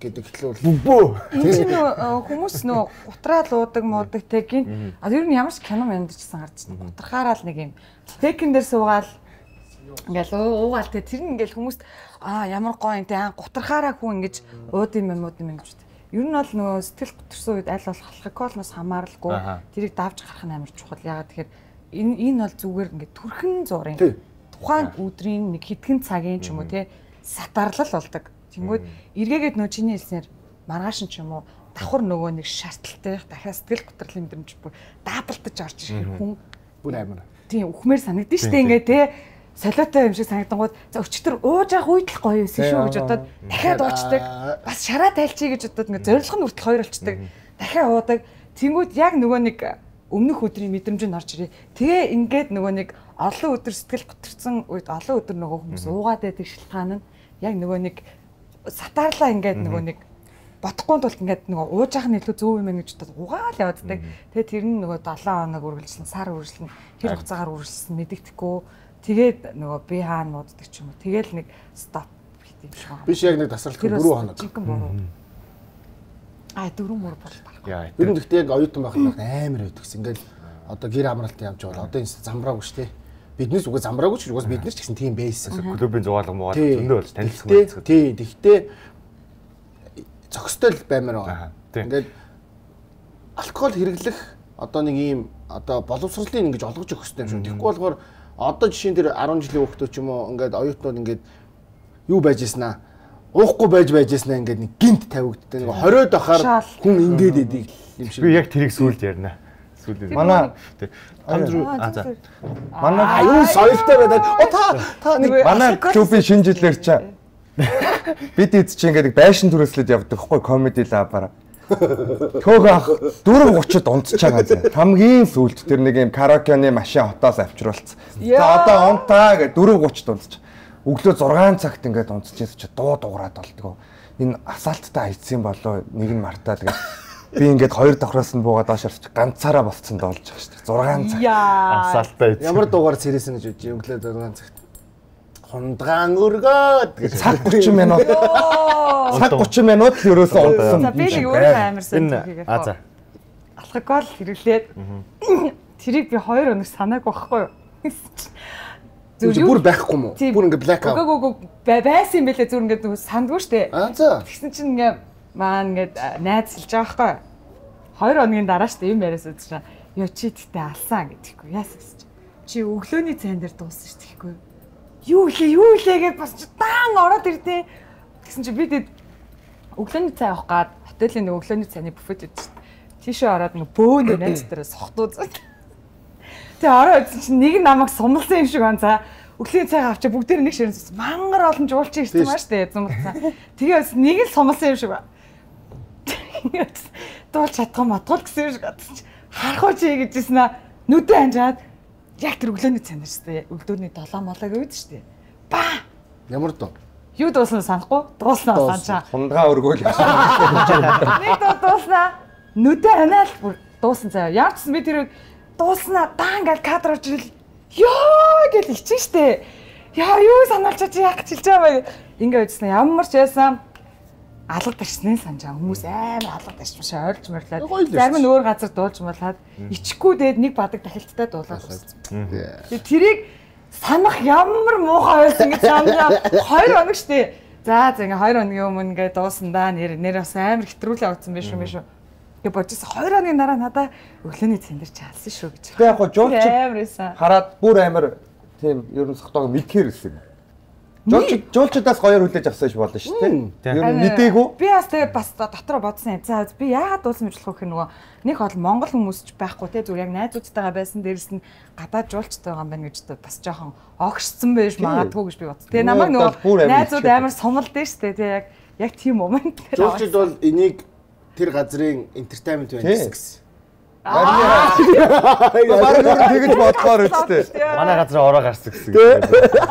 гэдэг хэлвэл бөө. Энэ чинь хүмүүс нөө гутраад уудаг муудаг тегийн а ер нь ямар ч кино мэндчихсэн гарч байна. Гутрахаараа л нэг юм текин дээр суугаал ингээл уугаал те тэр нь ингээл хүмүүст ямар гоё юм те гутрахаараа хүн ингэж ууд юм гэж байна. Ер нь бол нөгөө сэтгэл гутрсан үед аль болох алкоголноос хамааралгүй тэрийг давж гарах нь амар чухал. Ягаад тэгэхээр энэ бол зүгээр ингээд төрхөн зурын тухайн өдрийн нэг хэдхэн цагийн ч юм уу те сатарлал болдог. Тэнгүүд эргээгээд нөө чиний хэлснээр маргааш нь ч юм уу давхар нөгөө нэг шаардлагатай дахиад сэтгэл гутралын мэдрэмж бүр даблдаж орж ирэх хүн бүр амар. Тийм үхмээр санагдаж штэ ингээ те солиотой юм шиг санагдангууд за өчтөр ууж явах үед л гоё байсан шүү гэж бодоод дахиад уучдаг. Бас шараа тайлчий гэж бодоод ингээ зорилго нь хүртэл хоёр болчдаг. Дахиад уудаг. Тэнгүүд яг нөгөө нэг өмнөх өдрийн мэдрэмж нь орж ирээ. Тэгээ ингээд нөгөө нэг олон өдөр сэтгэл гутрсан үед олон өдөр нөгөө хүмүүс уугаад байдаг шалтгаан нь яг нөгөө нэг сатаарлаа ингээд нөгөө нэг бодохгүй тулд ингээд нөгөө ууж явах нь илүү зөв юм байна гэж бодоод угаал явааддаг. Тэгээ тэр нь нөгөө 7 хоног үргэлжлэн сар үргэлжлэн тэр хугацаагаар үргэлжлсэн мэдэгдэхгүй. Тэгээд нөгөө би хаана мууддаг ч юм уу. Тэгээл нэг стоп хийх юм шиг байна. Биш яг нэг тасралтгүй 4 хоног. Жинхэнэ буруу. 4 мөр бол болох. Ер нь гэхдээ яг оюутан байхад амар байдагс. Ингээл одоо гэр амралтын явж байгаа. Одоо энэ замбраагүй шүү дээ. Биднээс үгүй замбраагүй ч угаас бид нар ч гэсэн тийм байсан. Клубын зугаалга муугаад зөндөө болж танилцсан байна. Тий, тэгтээ зөкстэй л баймаар байгаа. Ингээд алкогол хэрэглэх одоо нэг ийм одоо боловсролын ингэж олгож өгөх хэрэгтэй юм шиг. Тэгэхгүй болохоор одоо жишээн дээр 10 жилийн хүүхдүүд ч юм уу ингээд оюутнууд ингээд юу байж яснаа уухгүй байж яснаа ингээд нэг гинт тавигддаг. Нэг 20-од ахаар хүн ингээд идэг юм шиг. Би яг тэрийг сүулт ярина. Манай манай юу соёлтой байдаг. Та нэг манай клубын шинэ жилээр чи бид эд чи ингээд байшин түрээслээд явдаг хгүй комеди лабаар. Төөгөө ах 4:30-д унтж байгаа зэ. Хамгийн сүүлд тэр нэг юм караокены машин хотоос авчруулсан. За одоо унтаа гэ 4:30-д унтж. Өглөө 6 цагт ингээд унтчихсан чи дуу дуурайд болдгоо. Энэ асаалттай хайцсан болоо нэг нь мартаа тэгээд би ингээд 2 давхраас нь буугаад доош орчих ганцаараа болцсон доолж байгаа шүү дээ. 6 цаг. Асаалтай. Ямар дуугаар цэрээсэн гэж үгүй өглөө 6 цагт. Хундгаан өргөөд гэж цаг 30 минут. Цаг 30 минут л ерөөсөө унтсан. За би нэг өөрөө амарсан зүйлийг яг. За. Алкогол хэрэглээд тэрийг би 2 өнөр санаагүй байхгүй юу? Бүр байхгүй мó? Бүр ингээ black out. Үгүй байсан юм бэлээ зүр ингээ нөгөө сандгүй штэ. За. Тэгсэн чинь ингээ маань ингээд найз хэлж байгаа байхгүй. 2 хоногийн дараа штэ юм яриасаа чинь ёо чи тэгтээ алсан гэдэггүй яасан гэж. Чи өглөөний цайн дээр дууссан штэ гэхгүй. юу илээ гэж бас даан ороод ирдээ. Тэгсэн чи би тэгээд өглөөний цай авах гад хотелийн нэг өглөөний цайны буфет өгдөө шүү дээ. Тийшээ ороод нэг бөөнө найз дээр сохтуузаад. Тэгээ ороод ирсэн чи нэг намайг сумлсан юм шиг байна за. Өглөөний цайгаа авчаа бүгдээр нэг ширэн цус мангар олон жуулчин ирсэн маш дээ зумцсан. Тэгээд нэг л сумлсан юм шиг байна. Дуулж чадах матгал гэсэн юм шиг гадсан чи харах чи гэжсэн аа нүдэ анжаад яг тэр өглөөний цайнаар шүү дээ. Өглөөний 7 молог өөд шүү дээ. Ба! Ямар дуу? Юу дуусан санахгүй? Дууснаа санчаа. Хундгаа өргөөл. Нэг дууснаа нүдэ анаал дуусан заяа. Яарчсан би тэр дууснаа даан гал кадр орж ирэл ёо гэж ичэн штэ. Яа юу санаалчаач яах гэж хэлж байгаа юм. Ингээ үзнэ ямар ч байсан алга тарчсны санжаа хүмүүс амар алга тарч маш ойлж мөрлээд зарим нь өөр газар дуулж муулаад ичхгүй дээд нэг бадаг дахилттай дуулаад байна. Тэрийг санах ямар муухай байсан гэж санаа 2 хоног штэ. За ингээ 2 хоногийн өмнө ингээ дуусан да нэр бас амар хэтрүүлээ утсан биш юм биш үү. Тэгээ бодож 2 хоногийн дараа надаа өглөөний цэндэр чаалсан шүү гэж. Тэгээ яг гоо жуулчид хараад бүр амар тийм ер нь сохтоог мэдхээр ирсэн. Жуулчдаас гоёор хүлээж авсан ш болно шүү дээ. Ер нь мэдээгүй. Би бас тэгээ бас дотроо бодсон. За би яагаад дуулсан мэдлэх вэ нөгөө нэг бол монгол хүмүүс ч байхгүй те зүгээр яг найзуудтайгаа байсан дээрс нь гадаад жуулчтай байгаа юм байна гэж бас жоохон огшсон байж магадгүй гэж би бодсон. Тэгээ намайг нөгөө найзууд амар сумалдээ штэ те яг тийм момент. Жуулчид бол энийг тэр газрын entertainment байна гэсэн. Бараг тэгэж бодлоор үстэй. Манай газар ороо гарсан гэсэн.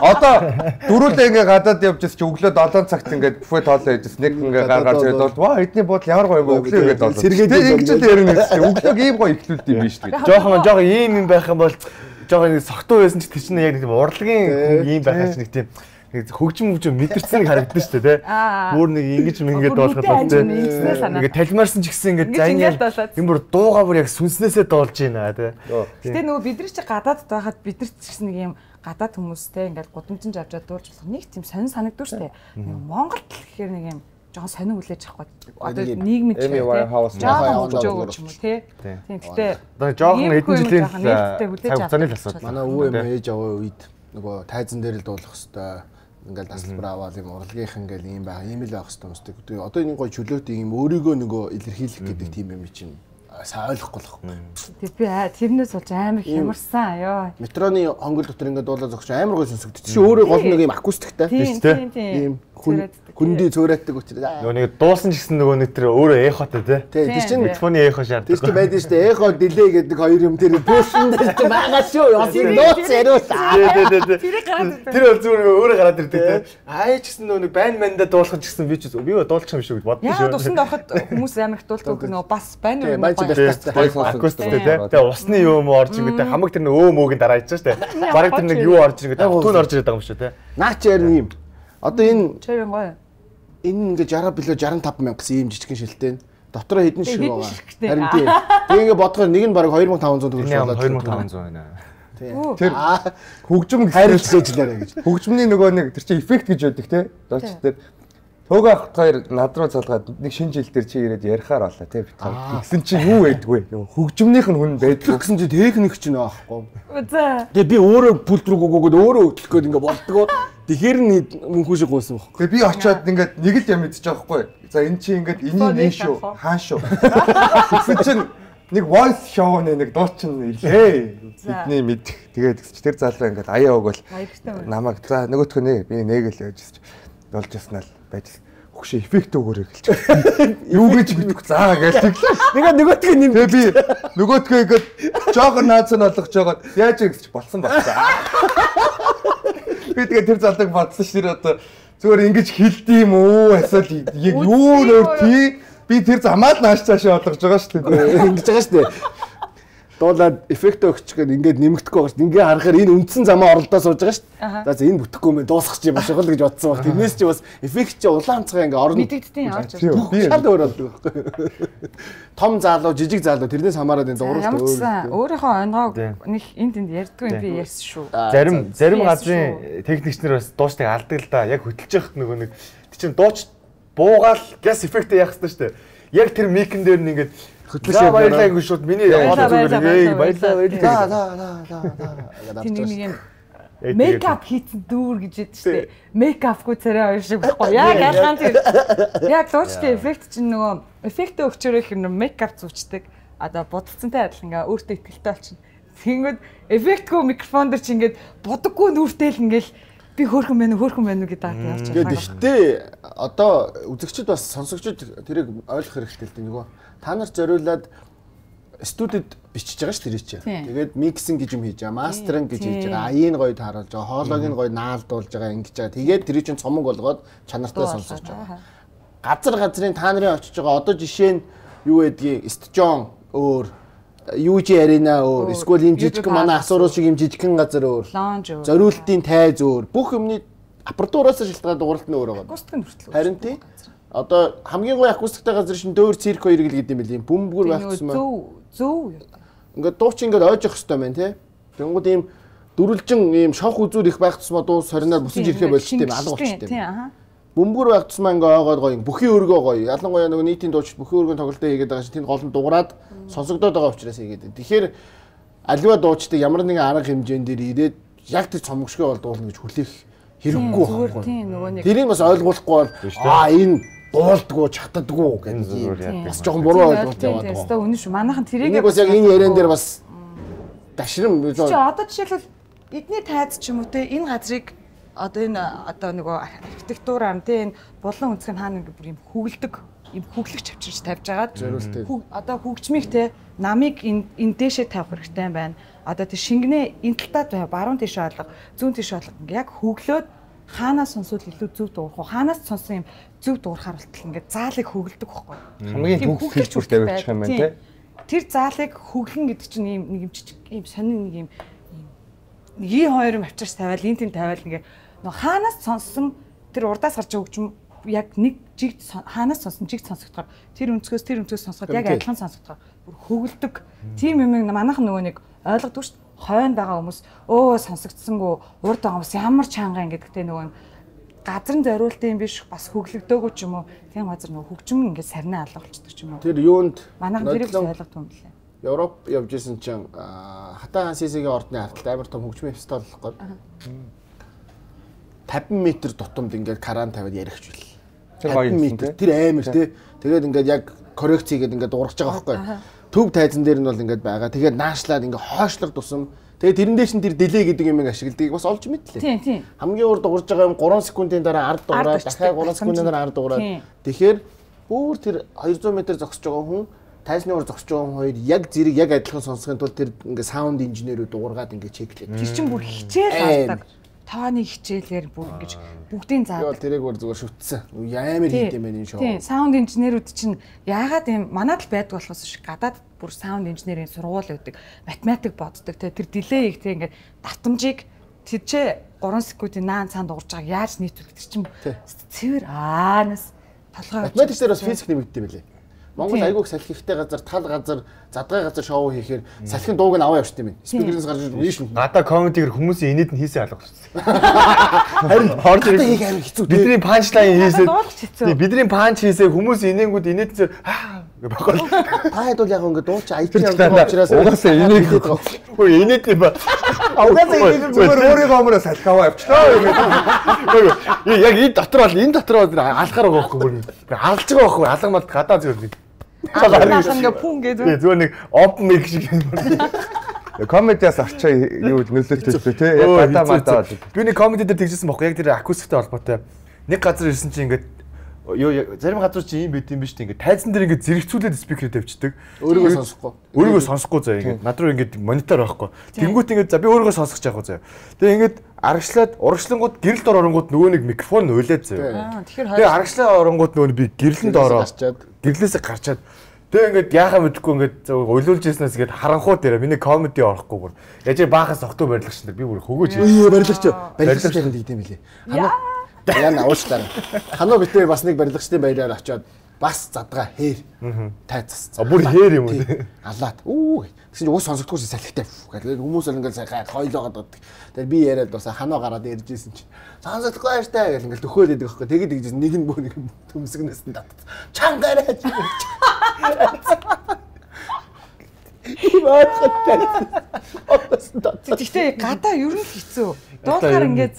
Одоо дөрүүлээ ингээ гадаад явж чи өглөө 7 цагт ингээ буфет хоолоо идэж нэг ингээ гаргаж ирээд бол ваа эдний бодол ямар гоё юм бэ өглөө ингээд болоо. Тэгээ ингэж л ярина гэсэн. Өглөөг ийм гоё ихлүүлд юм биш үү. Жохон ийм юм байх юм бол жохон сохтуу байсан ч тийч нэг тийм урлагийн ийм байхаж нэг тийм хөгжим мэдэрсэн харагдсан шүү дээ тий. Бүр нэг ингэж ингэж доолоход байна тий. Ингээ талмаарсан ч гэсэн ингээ зайнаа юм бүр дуугаа бүр яг сүнснээсээ доолж байна тий. Гэтэ нөгөө бид нар чи гадаадд байхад бид нар ч гэсэн нэг юм гадаад хүмүүстэй ингээ гудамжинд авчаад дуулж болох нэг тийм сонир санагддаг шүү дээ. Монголд гэхээр нэг юм жоохон сонир хүлээж авах гэдэг. Одоо нийгмийн ч жоохон хөгжөөгөө ч юм уу тий. Тийм гэтэ одоо жоохон хэдэн жилийн хугацааны л асуудал. Манай өвөө ээж аваа үед нөгөө тайзан дээр л дуулах хэвээр ингээл тасалбар аваад юм урлагийнх ингээл ийм байх ийм л байх хэвээр юмстай. Одоо энэ гоё чөлөөтэй юм өөрийгөө нөгөө илэрхийлэх гэдэг тийм юм чинь сайн ойлгохгүй л байна. Тэг би тэрнээс болж амар хямарсан ёо. Метроны хонгол дотор ингээд дуулаад зогсож амар гоё сонсогдчих. Чи өөрөө гол нэг юм акустиктай тийм. Хүндий цөөрэтдэг учраас нөгөө нэг дуусан ч гэсэн нөгөө нэг тэр өөрөө эхотой тий. Тэр чинь микрофоны эхо шаарддаг. Тэр чинь байдаг шүү дээ. Эхо дилей гэдэг хоёр юм тэр пушин дээр чинь байгаа шүү. Яс юм нууц яриулаа. Тэр бол зүгээр өөрөө гараад ирдэг тий. Аа ч гэсэн нөгөө нэг байн мандаа дуулах ч гэсэн би дуулчих юм шүү гэж боддоо шүү. Яа тусанд ороход хүмүүс амар их дуулдаг нөгөө бас байна уу? Акустиктэй тий. Тэгээ усны юм орж ингээд хамаг тэр нөгөө өөмөөгийн дараа ичсэн шүү дээ. Бараг тэр нэг юу орж ингээд түн орж ирээд байгаа юм шүү тий. Наач ярин юм. Одоо энэ чойн гоё. Энэ ингээ 60 билүү 65 мянга гэсэн ийм жижигхэн шилтэй. Дотроо хэдэн шиг байгаа. Харин тийм. Тэгээ ингээ бодохоор нэг нь бараг 2500 төгрөг болоод 2500 байна. Тэр хөгжим хайрлажлаарэ гэж. Хөгжмөний нөгөө нэг тэр чинь эффект гэж байдаг те. Дооч тэр Төгөө ахт хоёр над руу залгаад нэг шинэ жил дээр чи ирээд ярихаар болоо те бит. Тэгсэн чи юу байдгүй. Хөгжмөнийх нь хүн байдаг гэсэн чи техник ч нэ аахгүй. За. Тэгээ би өөрөө пульт руу гогоод өөрөө хөдлөх гээд ингээ болдгоо. Тэгэхээр нь мөнхүү шиг гойсон байхгүй. Тэгээ би очиод ингээд нэг л юм мэдчих жоохгүй. За эн чи ингээд энийг нэ шүү. Хаан шүү. Тэгсэн чинь нэг voice show-ны нэг дуучин ирлээ. Бидний мэдэх. Тэгээд тэр залуу ингээд аяа өгөөл намайг за нөгөөтгөө нэ би нэгээл явж болж яснаа л байж хөшөө эффект өгөөрэй гэлж. Юу гэж мэдэх заа гээл. Нэгэ нөгөөтгөө нэм. Тэгээ би нөгөөтгөө ингээд жоохон наацсан болгож жагаад яаж ингэж болсон байна. Би тэгээ тэр залууг бодсон ш тэр одоо зүгээр ингэж хэлдэм үү асал яг юу нөр тий би тэр замаа л нааш цаашаа болгож байгаа ш дээ. Ингэж байгаа ш дээ. Дуулаад эффект өгч гээд ингээд нэмэгдэхгүй байгаа ш. Ингээ харахаар энэ үндсэн замаа оролдоо сууж байгаа ш. За энэ бүтэхгүй юм дуусах чи маш гол гэж бодсон баг. Тэрнээс чи бас эффект чи улаан цага ингээ орно. Мэдэгдтiin орж ирсэн. Шал өөр болдог байхгүй. Том залуу, жижиг залуу тэрнээс хамаараад энэ дууралт өөр. Өөрийнхөө онгоог нэг энд ярьдгүй юм би ярьсан шүү. Зарим газрын техникчнэр бас дуучтайг алдаг л да. Яг хөтлж явахт нөгөө нэг тийм дууч буугаал газ эффект яах хэрэгтэй шүү дээ. Яг тэр микэн дээр нь ингээд хөтлөж баярлаа ингэ шууд миний яваад зүгээр баярлаа. Тийм нэг юм Мейкап хийсэн дүүр гэж яддаг шүү дээ. Мейкапгүй царай хоёр шиг байхгүй. Яг ялгаан тийм. Яг дуучтай эффект чинь нөгөө эффект өгчөрөх юм мейкап зүүчдэг. Одоо будалцантай адилхан ингээ өөртөө ихтэй болчихно. Тэгэнгүүт эффектгүй микрофон дэр чи ингээд будаггүй нүртэй л ингээл би хөөрхөн байна уу гэдэг явж байгаа. Гэхдээ одоо үзэгчд бас сонсогчд тэрийг ойлгох хэрэгтэй л дээ нөгөө. Та нарт зориулаад студид бичиж байгаа ш тэрий чи. Тэгээд миксинг гэж юм хийж байгаа, мастеринг гэж хийж байгаа, аяыг гоё тааруулж байгаа, хоолойг нь гоё наалдуулж байгаа ингэж байгаа. Тэгээд тэрий чин цомог болгоод чанартай сонсож байгаа. Газрын та нарын очиж байгаа одоо жишээ нь юу гэдгийг Стжон өөр UG Arena өөр, эсвэл юм жижиг манай асууруу шиг юм жижигхэн газар өөр. Зориултын тайз өөр. Бүх юмны аппаратураас шалтгаалаад дууралт нь өөр байгаа. Акустик нь хүртэл. Харин тийм. Одоо хамгийн гоё акустиктай газар шин дөөр цирк хоёр гэл гэдэг юм байл юм. Бөмбөр байх юм аа. Зөв. Ингээд дууч ингээд ойж явах хэрэгтэй байна тий. Тэнгууд ийм дөрвөлжин ийм шавх үзүүр их байх тусмаа дуу соринаар бусаж ирэхээ болчих тийм алга болчих тийм. Бөмбөр байх тусмаа ингээ ойгоод гоё бүхий өргөө гоё. Ялангуяа нөгөө нийтийн дууч бүхий өргөнд тоглолтоо хийгээд байгаа чинь тэнд гол нь дуурайд сонсогдоод байгаа учраас хийгээд. Тэгэхээр аливаа дуучдыг ямар нэгэн арга хэмжээнд дээр ирээд яг тэр цомогшгоо бол дуулна гэж хүлээх хэрэггүй байхгүй. Тийм нөгөө нэг тэрийг бас ойлгуулахгүй бол энэ дуулдгүй чаддаггүй гэдэг бас жоохон буруу ойлголт яваад байгаа. Тэстэ үнэн шүү. Манайхан тэрийг бас яг энэ яриан дээр бас дашрам. Чи одоо жишээлбэл эдний тайз ч юм уу те энэ газрыг одоо энэ одоо нөгөө архитектураар те энэ булан үнцгэн хаана ингээ бүр юм хөглөдөг юм хөглөгч авчирч тавьж агаад одоо хөгжмийг те намыг энэ дээшээ тавих хэрэгтэй байна. Одоо тэр шингэнэ энэ талтад баруун тийш оолго зүүн тийш оолго ингээ яг хөглөөд хаанаас сонсвол илүү зөв дуурах уу? Хаанаас сонсон юм зөв дуурахаар болтол ингээд заалыг хөглөдөг байхгүй юу? Хамгийн төгс хэлбэртэй явуучих юм байна тий. Тэр заалыг хөглөн гэдэг чинь ийм нэг юм жижиг ийм сонин нэг юм E2 авчирч тавиал энэ тийм тавиал ингээ нөө хаанаас сонссон тэр урдаас гарч байгаа хөгжим яг нэг жиг хаанаас сонсон жиг сонсогдохоор тэр өнцгөөс сонсоход яг адилхан сонсогдохоор бүр хөглөдөг. Тийм юм манайхан нөгөө нэг ойлгодог шүү дээ. Хойнд байгаа хүмүүс өө сонсогдсонгүй урд байгаа хүмүүс ямар чанга ингэдэгтэй нөгөө газрын зориултын юм биш бас хөглөгдөөгүй ч юм уу тийм газар нөгөө хөгжим ингээд сарнаа алга болчихдог ч юм уу. Тэр юунд манайхан тэрийг ойлгох юм лээ. Европ явж исэн чинь Хатан Хансисигийн ордны харталт амар том хөгжмийн фестивал болох гээд 50 м тутамд ингээд кран тавиад ярихч бил. 50 м тэр амар тий. Тэгээд ингээд яг коррекц хийгээд ингээд дуурах байгаа байхгүй. Төв тайзан дээр нь бол ингээд байгаа. Тэгээд наашлаад ингээд хойшлог тусам. Тэгээд тэрэн дээр чинь тэр дилей гэдэг юм ашигладгийг бас олж мэдлээ. Тийм. Хамгийн урд дуурж байгаа юм 3 секундын дараа ард дуураад дахиад 3 секундын дараа ард дуураад. Тэгэхээр бүр тэр 200 м зогсож байгаа хүн тайзны уур зогсож байгаа хүн хоёр яг зэрэг яг адилхан сонсохын тулд тэр ингээд саунд инженерүүд дуургаад ингээд чеклээд. Тэр чинь бүр хичээл авдаг. Таваны хичээлээр бүр ингэж бүгдийн заадаг. Тэрийг бүр зүгээр шүтсэн. Амар хийд юм байна энэ шоу. Тийм, саунд инженерүүд чинь яагаад юм манад л байдаг болохоос шиг гадаад бүр саунд инженерийн сургууль өгдөг, математик боддог. Тэр дилей их тийм ингээд давтамжийг тэжээ 3 секундын наан цаанд уурж байгааг яаж нийтүүлэх тэр чинь цэвэр аанаас толгой. Математик дээр бас физик нэмэгддэг юм билээ. Монгол айгууг салхихтай газар, тал газар, задгай газар шоу хийхээр салхин дууг нь аваа явчихсан юм. Спикерээс гарч ирж байна. Гадаа комедигээр хүмүүсийн инээд нь хийсэн алга болсон. Харин орж ирэх амар хэцүү. Бидний панчлайн хийсэн. Бидний панч хийсэн хүмүүс инээнгүүд инээд зэр бохол. Та хэд бол яг ингэ дууч IT явдаг учраас угаасаа инээд байгаа. Өө инээд юм ба. Угаасаа инээд зүгээр өөрийнхөө өмөрөө салхи аваа явчихлаа. Яг энэ дотор бол алхаар байгаа байхгүй. Алж байгаа байхгүй. Алга мал гадаа зүгээр. Алгаас ингээ пүн гэдэг. Зүгээр нэг open mic шиг юм. Комедиас арчаа юу нөлөөлтөйтэй тий. Яг гадаа мадаа. Би нэг комеди дээр тэгжсэн байхгүй. Яг тэр акустиктэй холбоотой. Нэг газар ирсэн чинь ингээд зарим газар чи юм байт юм биш үү? Ингээд тайзан дээр ингээд зэрэгцүүлээд спикер тавьчихдаг. Өөрийгөө сонсохгүй заа ингээд над руу ингээд монитор байхгүй. Тэнгүүт ингээд за би өөрийгөө сонсох яах вэ заа. Тэгээ ингээд аргачлаад урагшлангууд гэрэлд оронгууд нөгөө нэг микрофон уйлаад заа. Тэгээ аргачлаа оронгууд нөгөө би гэрлэнд ороо. Гэрлээсээ гарчаад тэгээ ингээд яахаа мэдэхгүй ингээд уйлуулж яснаас ингээд харанхуу дээр миний комеди орохгүй бүр. Яаж баахаас огтоо барилгач нар би бүр хөгөөж. Барилгач яг гэдэг юм билээ. Яна уучлаарай. Ханаа битээ бас нэг барилгачдын баяраар очиод бас задгаа хээр тайцсан. Бүр хээр юм уу? Алаад. Тэгсэн чинь уус сонсогдохгүй салхитай гэдэг. Хүмүүс л ингээд сайн хойлоогоод байдаг. Тэгээд би яриад бас ханаа гараад ярьж ирсэн чинь сонсогдохгүй баяртай гэл ингээд төхөөл идэг байхгүй. Тэгээд тэгжсэн нэг нь бөө нэг төмсгнээс нь татсан. Чангараач. Иваад хаттай. Гэхдээ гадаа ер нь хэцүү. Дуулахаар ингээд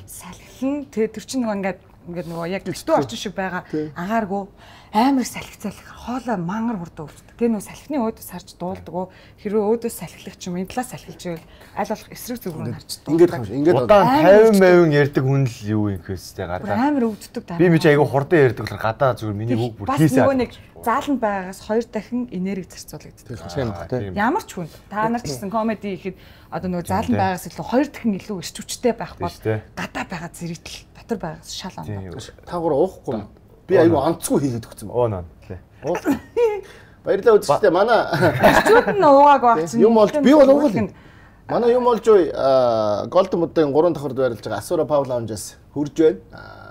салхилна. Тэгээ тэр чинь нөгөө ингээд нөгөө яг төв орчин шиг байгаа агааргүй амар салхицал хоолой мангар хурдан өвчдөг. Тэгээ нөгөө салхины өөдөөс харж дуулдаг. Хэрвээ өөдөөс салхилах ч юм энэ талаас салхилж байвал аль болох эсрэг зүг рүү харж дуулдаг. Ингээд удаан 50% ярддаг хүн л юу юм гэхээстэй гадаа. Амар өвддөг даа. Би ч айгүй хурдан ярддаг болохоор гадаа зүгээр миний үг бүр хийсээ. Бас нөгөө нэг зааланд байгаагаас 2 дахин энерги зарцуулагддаг. Ямар ч хүн та нар ч гэсэн комеди хийхэд одоо нөгөө зааланд байгаагаас илүү 2 дахин илүү эрч хүчтэй байх бол гадаа байгаа зэрэгтэл дотор байгаагаас шал ондоо. Та гур уухгүй. Би айгүй онцгүй хийгээд өгсөн. Оо. Баярлалаа үзэгчдээ. Манай чүүд нь уугааг багч. Юм болж би бол уугал. Манай юм болж Golden Mud-ын 3 давхард байрлаж байгаа Asura Paul Lounge-аас хурж байна.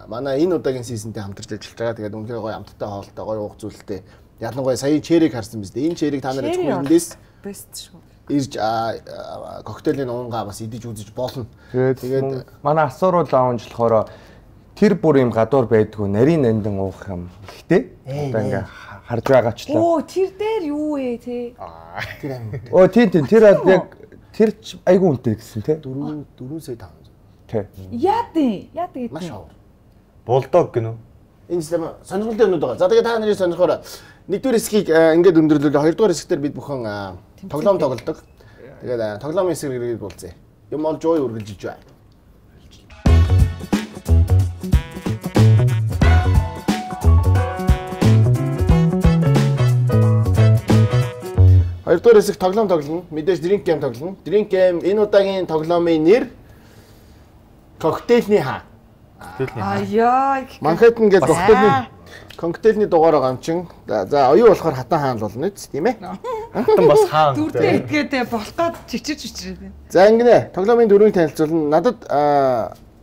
Манай энэ удаагийн сизонтэй хамтарч ажиллаж байгаа. Тэгээд үнэхээр гоё амттай хоолтой, гоё уух зүйлтэй. Ялангуяа сая чэрийг харсан биз дээ. Энэ чэрийг та нар ичгүй эндээс бест шүү. Ирж коктейлийн уунгаа бас идэж үзэж болно. Тэгээд манай Asura Lounge болохоор тэр бүр юм гадуур байдгүй нарийн нандин уух юм. Ихтэй. Одоо ингээ харж байгаачлаа. Оо тэр дээр юу вэ те? Тэр амин. Оо тийм тэр яг тэр айгүй үнэтэй гэсэн те. 4 сая 500. Тий. Яадаг гэдэг. Маш хавар. Булдог гинөө. Энэ сонирхолтой юмнууд байгаа. За тэгээд та нарын сонирхоор нэгдүгээр хэсгийг ингээд өндөрлөлөө. Хоёрдугаар хэсгээр бид бүхэн тоглоом тоглодог. Тэгээд тоглоомын хэсгийг ирээд уулзъя. Юм олж ой үргэлжилж байна. Хоёрдугаар хэсэг тоглоом тоглоно. Мэдээж drink game тоглоно. Drink game энэ удаагийн тоглоомын нэр коктейлний хаа. Аяа. Манхэттен гэдэг коктейлний дугаараа гамчин. За оюу болохоор хатан хаан л болно үст тийм ээ. Хатан бас хаан. Дүрдээ идгээд болох гээд чичирч. За ингэнэ. Тоглоомын дөрвийг танилцуулна. Надад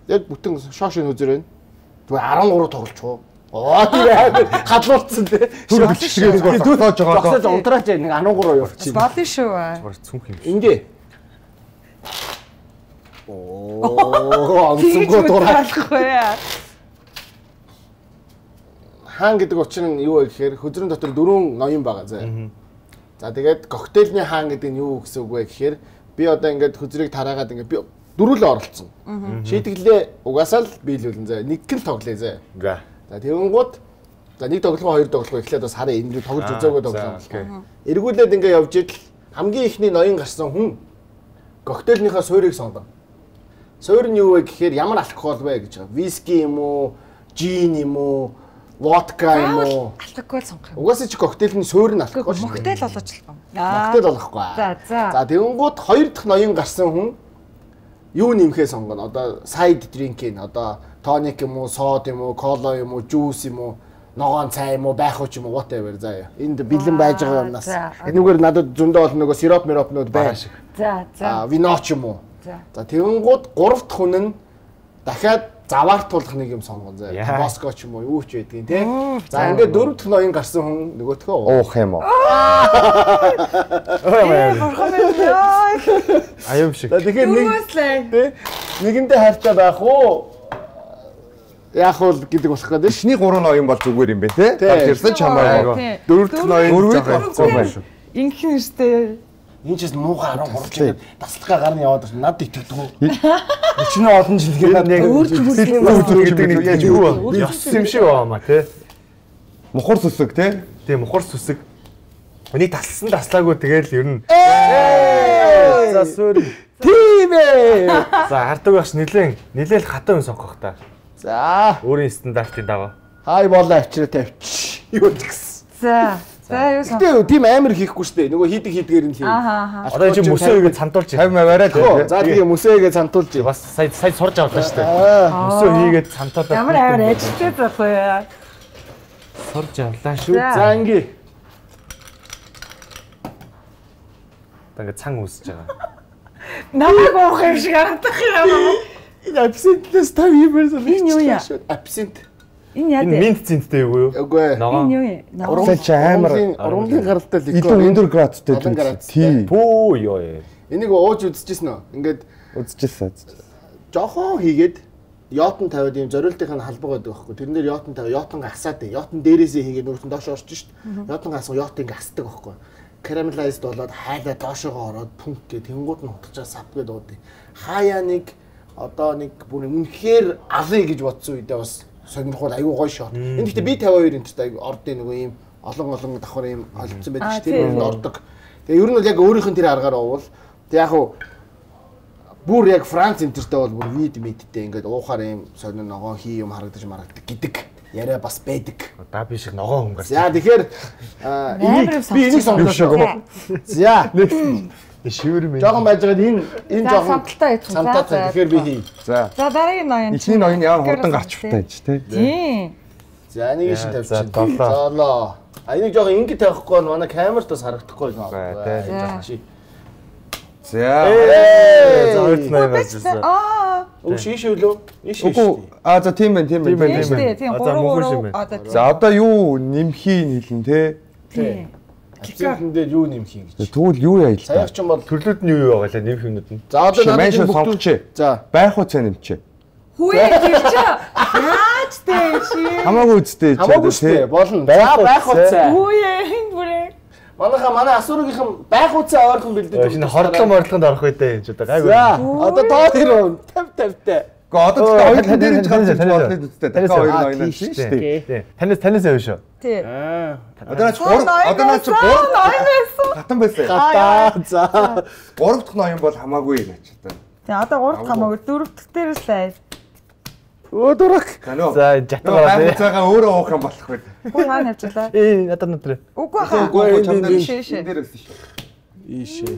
яг бүтэн шоошин үзэр байна. Зүгээр 13 тоглолцоо. Оо тийм хадлуулсан тий. Түр бичгээрээ дүүл тоож байгаа. Багсаа унтраач нэг 13 явчих. Болно шүү. Зүгээр цүнх юм. Ингээ. Оо онцгой дураалахгүй. Хаан гэдэг учир нь юу вэ гэхээр хөзрөн дотор 4 ноён байгаа заа. За тэгээд коктейлний хаан гэдэг нь юу гэсэн үг вэ гэхээр би одоо ингээд хөзрийг тараагаад ингээд би дөрүлөө оролцсон. Шийдгэлээ угаасаа л биелүүлэн заа. Нэг гэл тоглоё заа. За тэгэнгუთ за нэг тоглох хоёр тоглох эхлээд бас хараа энэ тоглож үзээгүй тоглоом. Эргүүлээд ингээд явж идэл хамгийн ихний ноён гарсан хүн коктейлнийхаа суурийг сонгоно. Суур нь юу вэ гэхээр ямар алкогол вэ гэж байгаа. Виски юм уу, жин юм уу, водка юм уу? Алкогол сонгох юм. Угаасаа чи коктейлийн суур нь алкогол. Моктейл болооч л юм. Моктейл болохгүй. За тэгэнгუთ хоёр дахь ноён гарсан хүн юу нэмэхээ сонгоно. Одоо side drink-ийн одоо тоник юм уу, сод юм уу, кола юм уу, жуус юм уу, ногоон цай юм уу, байхуч юм уу, whatever заа. Энд бэлэн байж байгаа юмнаас. Энэгээр надад зөндөө бол нөгөө сироп миропнууд байна шиг. За. Виноч юм уу? За тэгэнгუთ гурав дахь хүн нь дахиад заваартуулах нэг юм сонгоно заа. Боско ч юм уу, юу ч байдгийг тий. За ингээд дөрөв дахь ноён гарсан хүн нөгөөтгөө уух юм уу? Аюу шиг. Тэгэхээр нэг нэгэндээ хайртай байх уу? Яах вэ гэдэг болох гэдэг. Эхний 3 ноён бол зүгээр юм бэ те? Тэрсэн чамаагүй. Дөрөв дахь ноён жоохон байх шүү. Инхэн штэ. Энэ ч муухай 13 жил тасалгаа гарна яваад байна. Над итгэдэггүй. Өчнөө олон жилгээ над гэдэг нэг яаж юу вэ? Ёс юм шиг байна те. Мухар сүсэг те? Тийм мухар сүсэг. Энийг таслсан таслаагүй тэгэл ер нь. За суур. Тийм ээ. За хардаг багш нилээл хатан юм сонгох та. За өөрийн стандартын дагав. хай болоо авчираа тавьчих. Юу гэсэн. За юу сон. Гэтэ тийм амар хийхгүй шүү дээ. Нөгөө хийдгээр нь л хий. Одоо энэ мөсөөгээ цантуулж 50 аваарай л. За тийм мөсөөгээ цантуулж. Бас сая сурж авлаа шүү дээ. Мөсөө хийгээд цантуулаад. Ямар амар ажилтай захгүй яа. Сурж авлаа шүү. За ингээ. Ингээ цан үсэж байгаа. Намайг уух юм шиг харагдах юм. Энэ абсентлээс тав юм байсан. Энэ юу яа? Абсент. Энэ яа дээ? Энэ минт цэнттэй юу юу? Үгүй. Энэ юу яа? Урамч амар. Урамлын гаралтай л илүү өндөр градустай. Тийм. Пүү ёо. Энийг ууж үзчихсэн үү? Ингээд үзчихсэн. Жохон хийгээд йотон тавиад ийм зориултын халбаг байдаг байхгүй. Тэрэн дээр йотон тавиад йотон гасаад дээ. Йотон дээрээсээ хийгээд өөртөө доош орчих шүү дээ. Йотон гассан йотон ингээ асдаг байхгүй. caramelize болоод хайлаа доошогоо ороод пүнк гэх тэнгууд нь хутгачаа сав гэдэг уудыг. Хаяа нэг одоо нэг бүр үнэхээр алын гэж бодсон үедээ бас сонирхол аюу гоё шот. Энд гэхдээ би 52 инчтэй ордын нөгөө ийм олон давхар ийм олдсон байдаг шүү. Тэр нь ордог. Тэгээ ер нь бол яг өөрийнх нь тэр аргаар уувал тэг яг уу бүр яг Франц энтертэй бол бүр вид мэдтэй ингээд уухаар ийм сонир ногоон хий юм харагдаж марагддаг гэдэг яриа бас байдаг. Да би шиг ногоон хүн гарч. За тэгэхээр би энийг сонгосон. За шивэр мэн. жоохон байж байгаад энэ жоохон самталтай тэгэхээр би хий. За дараагийн ноён. Эхний ноён яа хурдан гарч втайж тий. Тийм. За энийг шин тавьчих. Золоо. А энийг жоохон ингэ тавихгүй бол манай камерт бас харагдахгүй байна. За. Зоорт нэр бассан. Үг шишээ лөө? Ишээ. За тийм байна. Тийм 3 одоо. За одоо юу нэмхийг хэлэн тий. Тийм. Акцентэн дээр юу нэмэх юм гэж. Тэгвэл юу яа л та. Саяг ч юм бол төрлүүд нь юу байгаа лээ нэмэх юмнууд нь. За одоо надад сонгоч. За байх уу цаа нэмчээ. Хүүе гэж яаж дээ чи. Хамаагүй үстэй. Хамаагүй үстэй болно. За байх уу цаа. Хүүе энэ бүрээ. Манай асуурынхан байх уу цаа ойрхон бэлдээд. Шинэ хордлогонд орох үедээ энэ ч одоо гайгүй. За одоо тоо 50-50-тай. Гэхдээ одоо хоёулаа дээр нь гарч болно үстэй. Дахиад хоёр ноён шүү дээ. Танаас авь шүү. Тий. Одоо наач 3 ноён байсан. Хатан байсан. За 3 дахь ноён бол хамаагүй наач одоо. Тий одоо 3 дахь хамаагүй 4 дахь дээрээс лээ. Өдөрөх. За жатгаа байх цагаа өөрөө уух юм болох байд. Хөө хаана явчихлаа? Надад нүтрэ. Үгүй хаа. Үгүй чамд шээ. дээр байсан шүү. Ийшээ.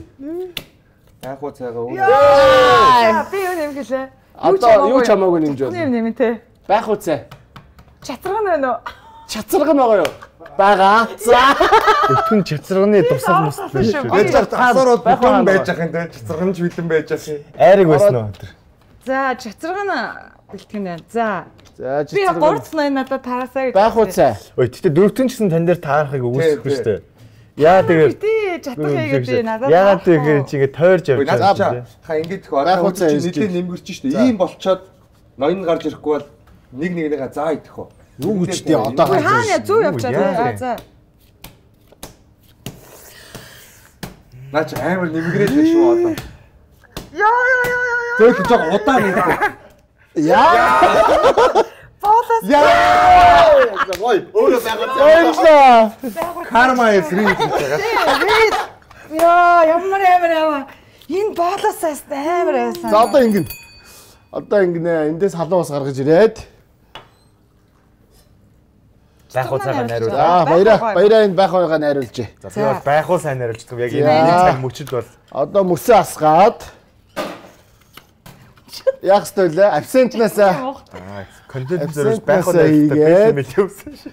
Байх уу цагаа өөрөө. Яа, би юу нэмгэлээ? Одоо юу ч хамаагүй нэмж байна. Нэм те. Байх уу цаа. Чацраг нь байна уу? Чацраг нь байгаа юу? Бага. За. Өтгөн чацрагны тусал мөсөл шүү. Байж тасаар бол бүхэн байж ах юм те. Чацрагч бэлэн байж ах юм. Айраг байсан уу тэр? За, чацраг нь бэлтгэн байна. За. За би 3 дахь ноён надад тараасаа гэж. Байх уу цаа. Ой, тэгтээ дөрөвтөн ч гэсэн тань дээр таарахыг өгөөсөхгүй шүү дээ. Яа тэгээд тий, чатах хийгээд надад. Яагаад тэгэхээр чи ингэ тойрж явж байгаа. Хаа ингэж одоо нэлээд нэмгэрч шүү дээ. Ийм болчоод ноён гарч ирэхгүй бол нэгнийгээ заа идэх үү. Юу үчтэй одоо хаана зүв явчаа. За. Наач амар нэмгэрээд байна шүү одоо. Яа. Зөөх жоо удаан нэмэх. Яа. Боолос. Яа. Гой. Өөрөө байгаа. Карма is real гэж байгаа. Яа, ямар. Энэ боолосоос амар байсан. За одоо ингэн. Одоо ингэнэ. Эндээс халуун ус гаргаж ирээд. Байх уу цагаан найруулж. За баяраа энд байх уугаа найруулж. За би бол байх уу сайн найруулдаг. Яг энэ цаг мөчөд бол одоо мөсөө асгаад яг столээ абсентнасаа контент зөрж байх уу найруулдаг явсан шүү.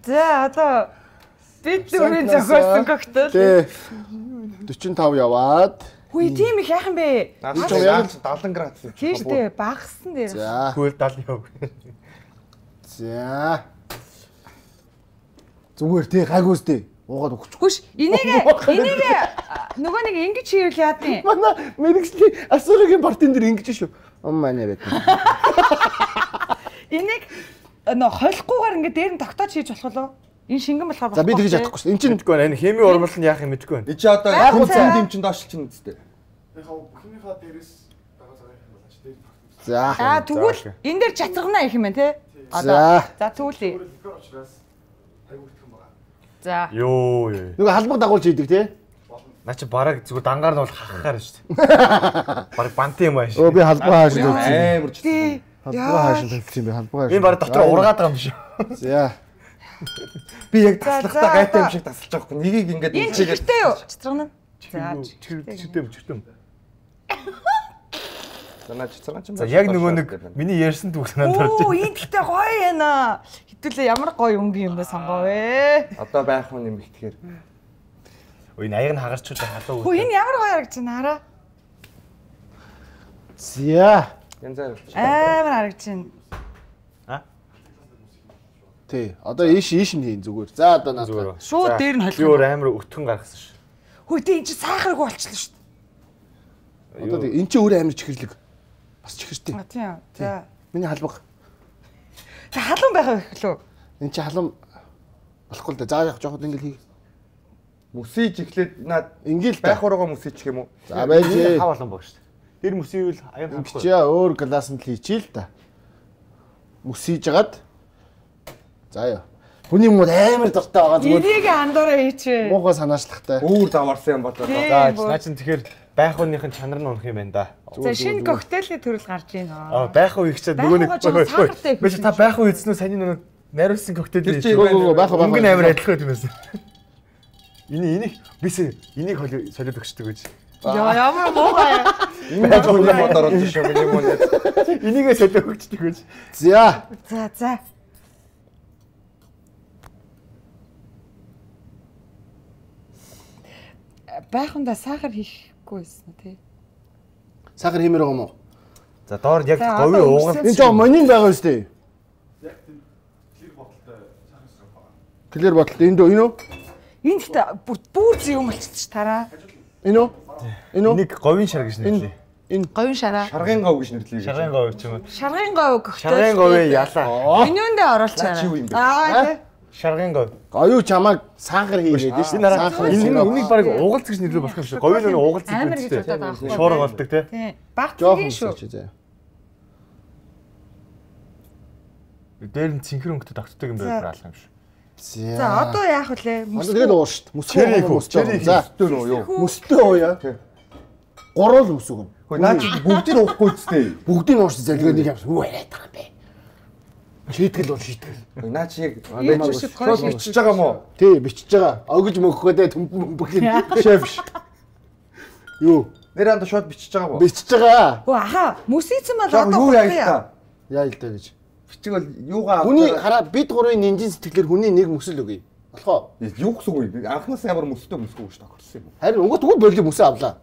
За одоо бид дөрвийн зохиолсон коктейл. Тий. 45 яваад. Хүй тийм их яах юм бэ? Яг 70 градус. Тийм шүү дээ. Багассан дээр. За. Хөл 70 яв. За. Зүгээр тий гайгүйстэй. Уугаад өгч. Хүш энийг нөгөө нэг ингэж хийвэл яадیں۔ Манай мэрэгчлийн асуугийн партийн дээр ингэж шүү. Манай байт. Энийг нөө холихгүйгээр ингэ дээр нь тогтоож хийж болох уу? Энэ шингэн болохоор За би тэгж чадахгүй шүү. Энд чинь мэдгүй байна. Энэ хими урмал нь яах юм мэдгүй байна. Би чи одоо яг үн дэмчин доошлчихно үстэй. Химийнхаа дээрээс байгаа цагаан юм байна ч дээр. За. Тэгвэл энэ дээр чацрагнаа их юм байна те. За. За түүлээ. За. Йоо. Нөгөө халбаг дагуулж хийдэг тий. Наа чи бараг зүгээр дангаар нь бол хахахаар шүү дээ. Бараг бантын юм ааш. Өө би халбаг хаашаа тавьчих. Амар ч. Халбаг хаашаа тавьчих юм би халбаг хаашаа. Энэ бараг дотор ургаад байгаа юм шүү. За. Би яг таслахтаа гайтай юм шиг тасалж байгаа хгүй. Нэгийг ингээд Энэ чигтэй юу? Чацрагна. За. Чигтэй. Санаа чацраг юм. За яг нөгөө нэг миний ярьсан түүх санаанд орж байна. Оо энэ гэхдээ гоё яана. Хэдүүлээ ямар гоё өнгийн юм бэ сонгоовэ. Одоо байх юм нэмэгдэхээр. Ой энэ аяг нь хагарч байгаа халуу. Хөө энэ ямар гоё харагдаж байна хараа. За. Янзаар. Амар харагдаж байна. Тий. Одоо ийш нь хийн зүгээр. За одоо надад. Шууд дээр нь Би холих. өөр амар өтгөн гаргасан шүү. Хөө тий энэ чи сахаргүй болчихлоо шүү дээ. Одоо эн чинь өөр амар чихэрлэг. Бас чихэртэй. Тийм. За. Миний халбаг. За халуун байх вэ лөө? Эн чинь халуун болохгүй л да. За яг жоохон ингэ хий. Мөсийж эхлээд наад ингээл байх ургаа мөсийчих юм уу? За байж. Хав олон баг шүү дээ. Тэр мөсийвэл аян Ингэж яа өөр классанд л хийчихээ л та. Мөсийж жагаад. За яа. Хүний мод амар дуртай байгаа зүгээр. Энийг андуураа хийчихвэ. Муухай санаачлахтай. Өөр заварсан юм болоо. За наа чин тэгэхээр байх уныхын чанар нь унах юм байна да. За шинэ коктейлийн төрөл гарч байна. Байх уу ихчээд нөгөө нэг сахартай. биш та байх уу эзнүү саний нөгөө найруулсан коктейл байх байх. өнгөн амар адилхан юм байсан. Энийг энийг солиод өгчдөг гэж. Ямар муухай. Байх уу юм ороод шүү юм уу. Энийгээ солиод өгчдөг гэж. За. За. Байхундаа сахар хийхгүй байсан тий. Сахар хиймээр байгаа юм уу? За доор яг говийн уугал. Энэ жоо монин байгаа шүү дээ. Яг тийм клэр боталтай энэ үү? Энэ ихтэй бүр зүй юм болчихчих тараа. Энэ үү? Энэ үү? Энийг говийн шар гэж нэрлэе. Энэ Говийн шараа. Шаргын гов гэж нэрлэе. Шаргын гов ч юм уу. Шаргын гов гөхтэй. Шаргын говийн ялаа. Өнөөндөө оруулчаарай. Аа. Шаргын гов. Аюу чамайг сахар хийгээд шүү дээ. Сахар. Энэ үнийг баг уугалц гэж нэрлэх болох юм шиг. Говийн нөгөө уугалц Амар гэж гэж бодоод байгаа байхгүй. Шуурга болдог тий. Тий. Багцгийн шүү. Дээр нь цэнхэр өнгөтэй тогтдог юм байх алах юм шиг. За одоо яах вэ? Тэгээд ууш шүү дээ. Мөстэй. За Өстөө нөө юу? мөстэй ууя. Гурал үсэг. Хөөе наа чи бүгдийг уухгүй үстэй. Бүгдийг ууш залгаа нэг юм яриад байгаа юм бэ. Шийтгэл бол шийтгэл. Наа чи яг Шууд бичиж байгаа мó? Тий, бичиж байгаа. Огж мөхөхөдөө төмбөгийн шеф. Юу? Нэр анда шууд бичиж байгаа мó? Бичиж байгаа. Оо аха мөсийцэн бол Одоо юу яа яа. Яа л дээ гэж. Бичиг бол юугаа Хүний хараа бид гурвын нинжин сэтгэлээр хүний нэг мөсөл өгье. Болохоо. юу гэсэн үг вэ? Анхнаасаа ямар мөстэй мөсгүй гэж тохирсон юм. Харин угт болиг мөсөө авлаа.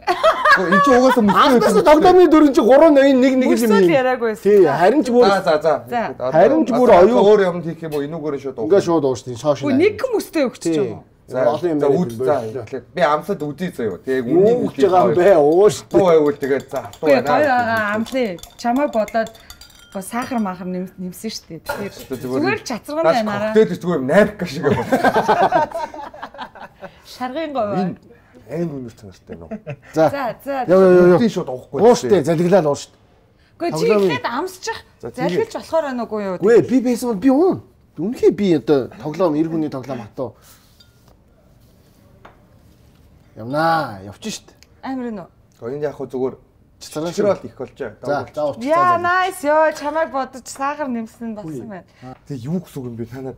Энд чи угаасаа мөстэй. Анхнаасаа тогтоомны дөрөв чи 381 Мөсөл юм. яриаггүй. Тий, харин ч бүр За. Харин ч бүр оюу өөр юмд хийх юм уу? Энүүгээр шууд уух. ингээ шууд уушдیں۔ Шоош. Үгүй нэг мөстэй өгчих юм уу? За олон юм за байна. үд за. Би амсад үдий заяа. Тэгээ Юу гэж байгаа юм бэ? Ууш. Туу байвал тэгээд за туу Үгүй байна. амлаа. Чамайг бодоод сахар махар нэмсэн шүү дээ. Тэгэхээр зүгээр чацраган байнараа. Коктейл зүгээр юм найрка шиг юм. Шаргын гов. Аим өнөр цанартай нөө. За. За. Юу. Үдий шууд уухгүй. Ууштэй залглаа ууш. Үгүй чи ихэд амсчих. Залхилж болохоор байна уугүй юу? Үгүй би байсан бол би уун. Үнэхээр би одоо тоглоом эр хүний тоглоом хатуу. Явнаа, явчих штт. Амар нөө. Энд яг хөө зүгээр Чацраа чичрэл их болж байгаа. За ууч. Яа nice ёо чамайг бодож сахар нэмсэн болсон байна. Тэгээ юу гэсэн үг юм бэ та нар?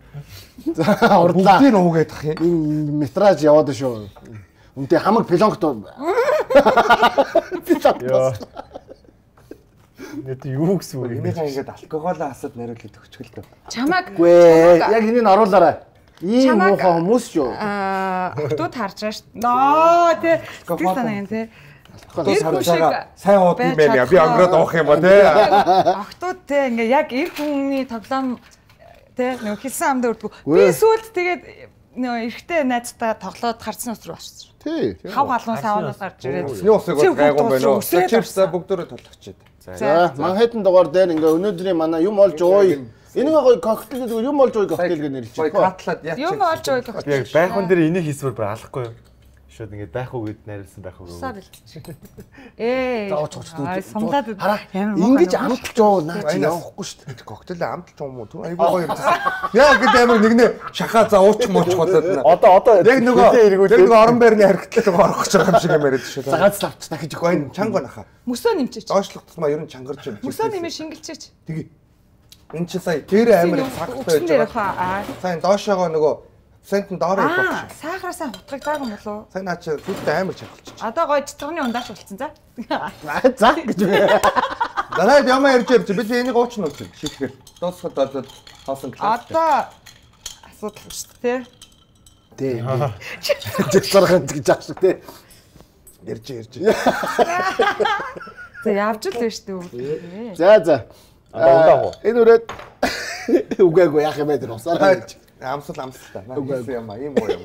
За урдлаа. Бүгдийг нуугээд ах юм. Энэ метраж яваад шүү. Үнтэй хамаг пилонгт. Яа. Нэт юу гэсэн үг юм бэ? Энийхээ ингээд алкоголоо хасаад нариулж өгчихөл төө. Чамайг Гүй яг энийг оруулаарай. Ийм муухай хүмүүс шүү. Хотууд харж байгаа шүү. Ноо тий. Сэтгэл санаа юм тий. Сайн ууд юм байна. Би өнгөрөөд уух юм ба тий. Охтууд тий ингээ яг эр хүний тоглоом тий нөгөө хэлсэн амд өрдгөө. Би сүүлд тэгээд нөгөө эрэгтэй найзтайгаа тоглоод харцсан ус руу очсон. Тий. Хав галуун савнаас гарч ирээд. Усны усыг бол гайгүй байна уу? Чипс бүгдөө толгочээд. За Манхэттен дугаар дээр ингээ өнөөдрийн манай юм олж ууя. Энийг гоё коктейл зүгээр юм олж ууя коктейл гэж нэрлэж Гоё байна. катлаад яач. Юм олж ууй гэх. Яг байхун дээр энийг хийсвэр бүр алахгүй юу? Шууд ингээд байх уу гэд найруулсан байх уу. Саа бэлтчих. Сумлаад Хараа ингэж амталж уу наа чи явахгүй шүү дээ. Коктейл амталж юм уу? Айгүй гоё юм. Яа гэдэг амар нэгнээ шахаа за уучих муучих болоод байна. Одоо Яг нөгөө орон байрны харигтлал орох гэж байгаа юм шиг юм яриад шүү. За ганц лавч дахиж өгөх. Гоо чанга нахаа. мөсөө нэмчээч. Доошлох тусмаа ер нь чангарч юм. Мөсөө нэмээ шингэлчээч. Тэгээ. Энэ чи сая дээр амар сагтай байж байгаа. Сайн доошоогоо нөгөө сентэн доороо их болчих. Сахараасаа хутгах даагүй юм болов. Сайн наа чи зүгтээ амар чангалчих. Одоо гоё цэцгэрний ундааш болцсон за. За гэж байна. Дараад ямаа ярьж бид энийг уучна уу шийтгэл. Дуусахад болоод хоосон класс. Одоо асуудал шүү дээ. Тий. Жигсархан гэж аах шиг тий. Ярьж. За явж л байна шүү дээ. За. ундаа. Энэ үрээд үгээгүй яах юм бэ тэр усаараа. Амсал та. Үгүй юм аа ийм гоё юм.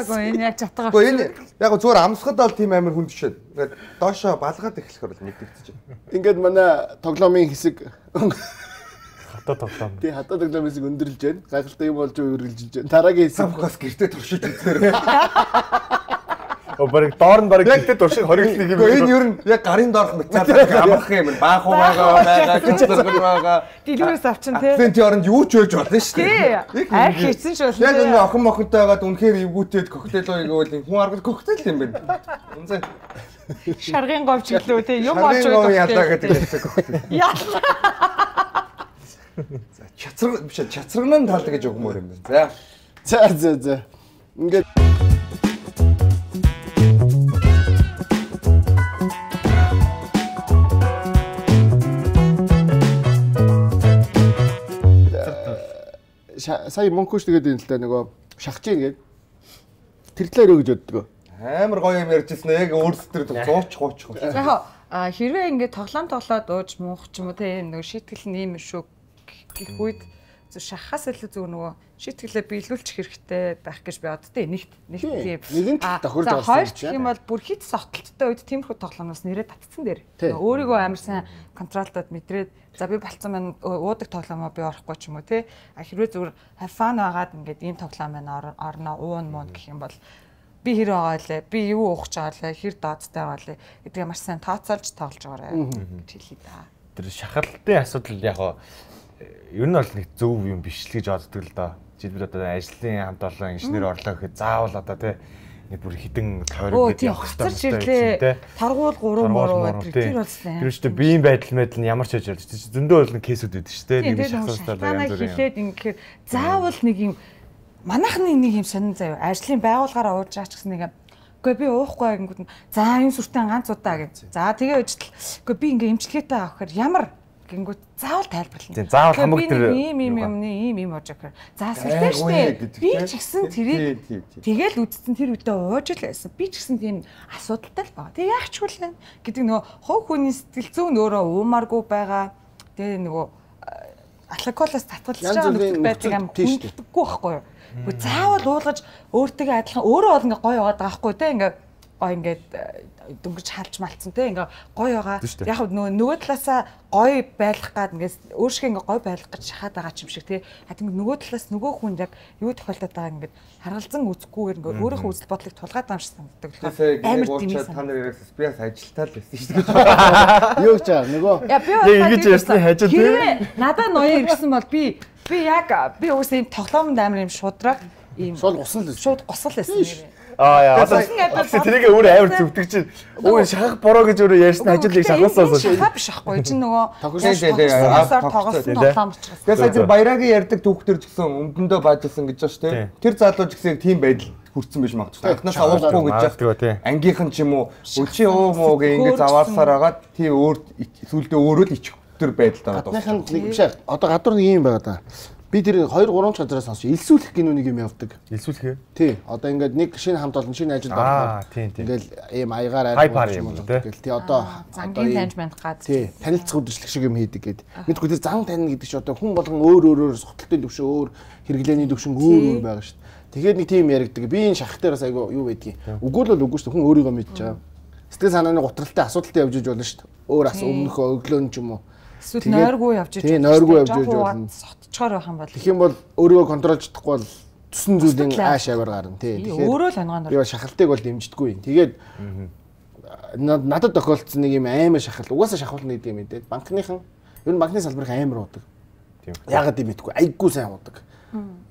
Гоо энэ яг чатгаа. Гэхдээ энэ яг зүгээр амсахад бол тийм амар хүн тушээд. Ингээд доошоо балгаад эхлэхээр бол мэдэгдэж байна. Ингээд манай тоглоомын хэсэг Хатаа тоглоом. тий хатаа тоглоомын хэсэг өндөрлж байна. Гайхалтай юм болж үргэлжилж байна. Дараагийн хэсэг Самхаас гэртээ туршиж үзээр. Бараг доор нь бараг гэлтэй дуршиг хориглох юм. Энэ ер нь яг гарын доорх мэдцаад амрах юм. Баах байгаа, гिचэрэг байгаа. Дэлгүүрээс авчин тий. Акцент оронд юу ч байж болно шүү дээ. Арх хийсэн шүү. Яг энэ охин мохонтой байгаад үнэхээр эвгүүтээд коктейл ууйгвал хүн аргал коктейл юм байна. Үнзээ шаргын говч гэлөө тий юм олж байгаа. Ядаа гэдэг хэлсэн коктейл. Яа. За чацраг биш чацрагнаа талд гэж өгмөр юм байна. За. Ингээд сая Монкош тэгээд энэ л да нөгөө шахаж ийн гээд тэр талаараа гэж боддог. Амар гоё юм ярьжсэн яг өөрсдөр 100 30. Яг хэрвээ ингээд тоглоод ууж муух ч юм уу те нөгөө шийтгэл нь ийм шүү гэх үед шахахаас илүү зөв нөгөө шийтгэлээ биелүүлчих хэрэгтэй байх гэж би боддтой нэг тийм тохиолж байгаа. Хоёр гэх юм бол бүр хит согтолттой үед тиймэрхүү тоглоомноос нэрээ татцсан дээр. Өөрийгөө амар сайн контролдод мэдрээд за би болцсон байна уудаг тоглоомоо би орохгүй ч юм уу те. Хэрвээ зүгээр фан байгаад ингээд ийм тоглоом байна орно уун муу гэх юм бол би хэр байгаа лээ би юу уух гэж байгаа лээ хэр дооцтой байгаа лээ гэдгийг маш сайн тооцоолж тоглож байгаарай гэж хэлье да. Тэр шахалтын асуудал яг ер нь бол нэг зөв юм биш л гэж боддог л доо. Жишээлбэл одоо ажлын хамт олон инженер орлоо гэхэд заавал одоо тий нэг бүр хідэн тойрог гэдэг явах хэрэгтэй. Таргуул 3 муу тэр болсон. Тэр үстэй биеийн байдал нь ямар ч ажил болж зөндөө бол нэг кейсүүд үүдэн шүү дээ. Нэг шахалтаа янз бүрийн. Хэлээд ингэхээр заавал нэг юм манайхны нэг юм сонин заяа ажлын байгууллагаараа ууж байгаа ч гэсэн нэг үгүй би уухгүй гингүүд нь за энэ сүртэн ганц удаа гэж. За тэгээ үжил. Үгүй би ингээ имчилгээтэй авах гэхээр ямар гингүүд заавал тайлбарлана. Тийм заавал хамаг тэр ийм ууж байгаа. За сүртэй штэ. Би ч гэсэн тэрийг тэгэл үдцэн тэр үедээ ууж л байсан. Би ч гэсэн тийм асуудалтай л байгаа. Тэг яах ч хүлэн гэдэг нөгөө хов хүний сэтгэл зүйн өөрөө уумааргүй байгаа. Тэгээ нөгөө алкоголоос татгалж байгаа нөхцөл байдлыг амар хүнддэггүй байхгүй юу? Гэхдээ заавал уулгаж өөртөө адилхан өөрөө бол ингээ гоё яваад байгаа байхгүй те ингээ гоё ингээд дөнгөж халж малцсан те ингээ гоё байгаа. Яг нөгөө талаасаа гоё байлгах гад ингээс өөршгөө ингээ гоё байлгах гэж шахаад байгаа ч юм шиг те. Хатин нөгөө талаас нөгөө хүн яг юу тохиолдоод байгаа ингээд харгалзан үзэхгүйгээр ингээ өөрийнхөө үзэл бодлыг тулгаад байгаа юм шиг санагддаг л. Амар тийм та нар яриас би бас ажилтаа л байсан шүү дээ. Юу гэж байгаа нөгөө би ингэж ярьсны хажууд те. Надад ноёо ирсэн бол би уус ийм тоглоомд амар юм шудраг ийм шууд гусал байсан нэрээ. Яа тэрийг өөр амар зүвдэг чинь өө шахах бороо гэж өөрөө ярьсан ажлыг шахаасаа шахах биш байхгүй чинь нөгөө тоглосон тоглоом учраас. Тэгэхээр сая баярагийн ярьдаг түүхтэр ч гэсэн өмдөндөө баажсан гэж байна шүү дээ. Тэр залуу ч гэсэн тийм байдал хүрсэн биш магадгүй. Анхнаас авахгүй гэж байна. Ангийнхан ч юм уу өчи өө муу гэ ингэ заваарсаар хагаад тий өөр сүулдэ өөрөө л ичих төр байдалд байгаа. Гадныхан нэг биш одоо гадуур нэг юм байгаа да. Би тэр 2 3 газараас сонсч элсүүлэх гинүү нэг юм явдаг. Элсүүлэх. Тий. Одоо ингээд нэг шинэ хамт олон шинэ ажилд орох. Ингээл ийм аягаар айж юм тэгэл. Тий одоо зангийн таньжмент гад. Тий. Танилцах үдшилэг шиг юм хийдэг гээд. Мэдгүй тэр зан тань гэдэг чи одоо хүн болгон өөр суталтын төвшин өөр хэрэглээний төвшин өөр байгаа шүү дээ. Тэгээд нэг тийм яригдаг. Би энэ шахах дээр бас айгу юу байдгийг. Үгүй л үгүй шүү дээ. Хүн өөрийгөө мэдж байгаа. Сэтгэл санааны гутралтай асуудалтай явж иж болно шүү дээ. Өөр өмнөхөө өглөө нь ч юм уу. Эсвэл нойргүй явж иж. Тий, нойргүй явж иж болно. Сотчоор байх юм бол. Тэгэх юм бол өөрийгөө контролж чадахгүй бол төсөн зүйлийн ааш аваар гарна тий. Тэгэхээр өөрөө л онгоон. Би шахалтыг бол дэмждэггүй. Тэгээд надад тохиолдсон нэг юм амар шахалт. Угаасаа шахуулна гэдэг юм дээ. Банкныхан ер нь банкны салбарыг амар уудаг. Яагаад юм мэдгүй. Айггүй сайн уудаг.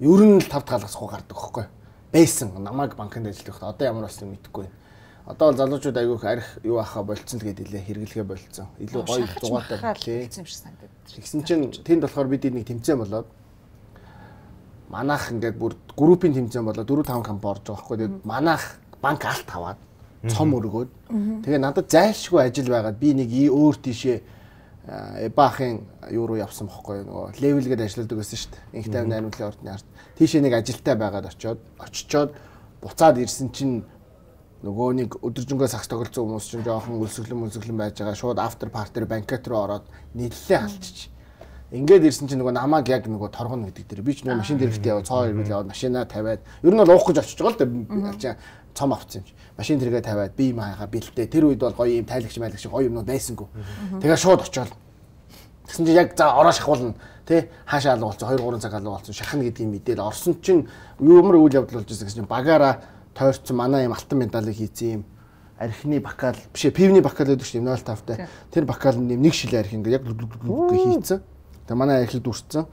Ер нь л тавд галгасгүй гардаг хөхгүй. Байсан намайг банкнд ажиллаж байхдаа одоо ямар болсон мэдэхгүй. Одоо бол залуучууд айгүйх арх юу ахаа болцсон л гээд илээ хэрэглэгээ болцсон. Илүү гоё зугаатай тий. Тэгсэн чинь тэнд болохоор бид нэг тэмцээн болоод манайх ингээд бүр группийн тэмцээн болоод 4 5 компани орж байгаа байхгүй. Тэгээд манайх банк алт аваад цом өргөөд тэгээ надад зайлшгүй ажил байгаад би нэг өөр тийшээ баахын юу руу явсан бохгүй нөгөө левелгээд ажилладаг байсан шүү дээ. Инх тайм найруулгын ордны ард. Тийшээ нэг ажилтай байгаад очичоод буцаад ирсэн чинь нөгөө нэг өдөржингөө сагс тоглолцсон хүмүүс чинь жоохон өлсөглөн байж байгаа. Шууд after party банкет руу ороод нийллээ алчиж. Ингээд ирсэн чинь нөгөө намайг яг нөгөө торгоно гэдэг дээр би ч нөгөө машин дэрэгтэй яваа цоо ирвэл яваад машинаа тавиад ер нь бол уух гэж очиж байгаа л да. Цом авчихсан юм чи. Машин дэргээ тавиад би юм хаагаа бэлтээ. Тэр үед бол гоё юм тайлагч гоё юмнууд байсангүй. Тэгээ шууд очиод. Тэгсэн чинь яг за ороо шахуулна тий хаашаа алга болсон 2 3 цаг алга болсон шахна гэдгийг мэдээл орсон чинь ямар үйл явдал болж байсан гэсэн чинь багаараа тойрцсон манай юм алтан медалыг хийсэн юм. Архины бакал биш пивний бакал гэдэг чинь 0.5-тай. Тэр бакал нэг шил арх ингээд яг хийцэн. Тэгээ манай архийг дүрцсэн.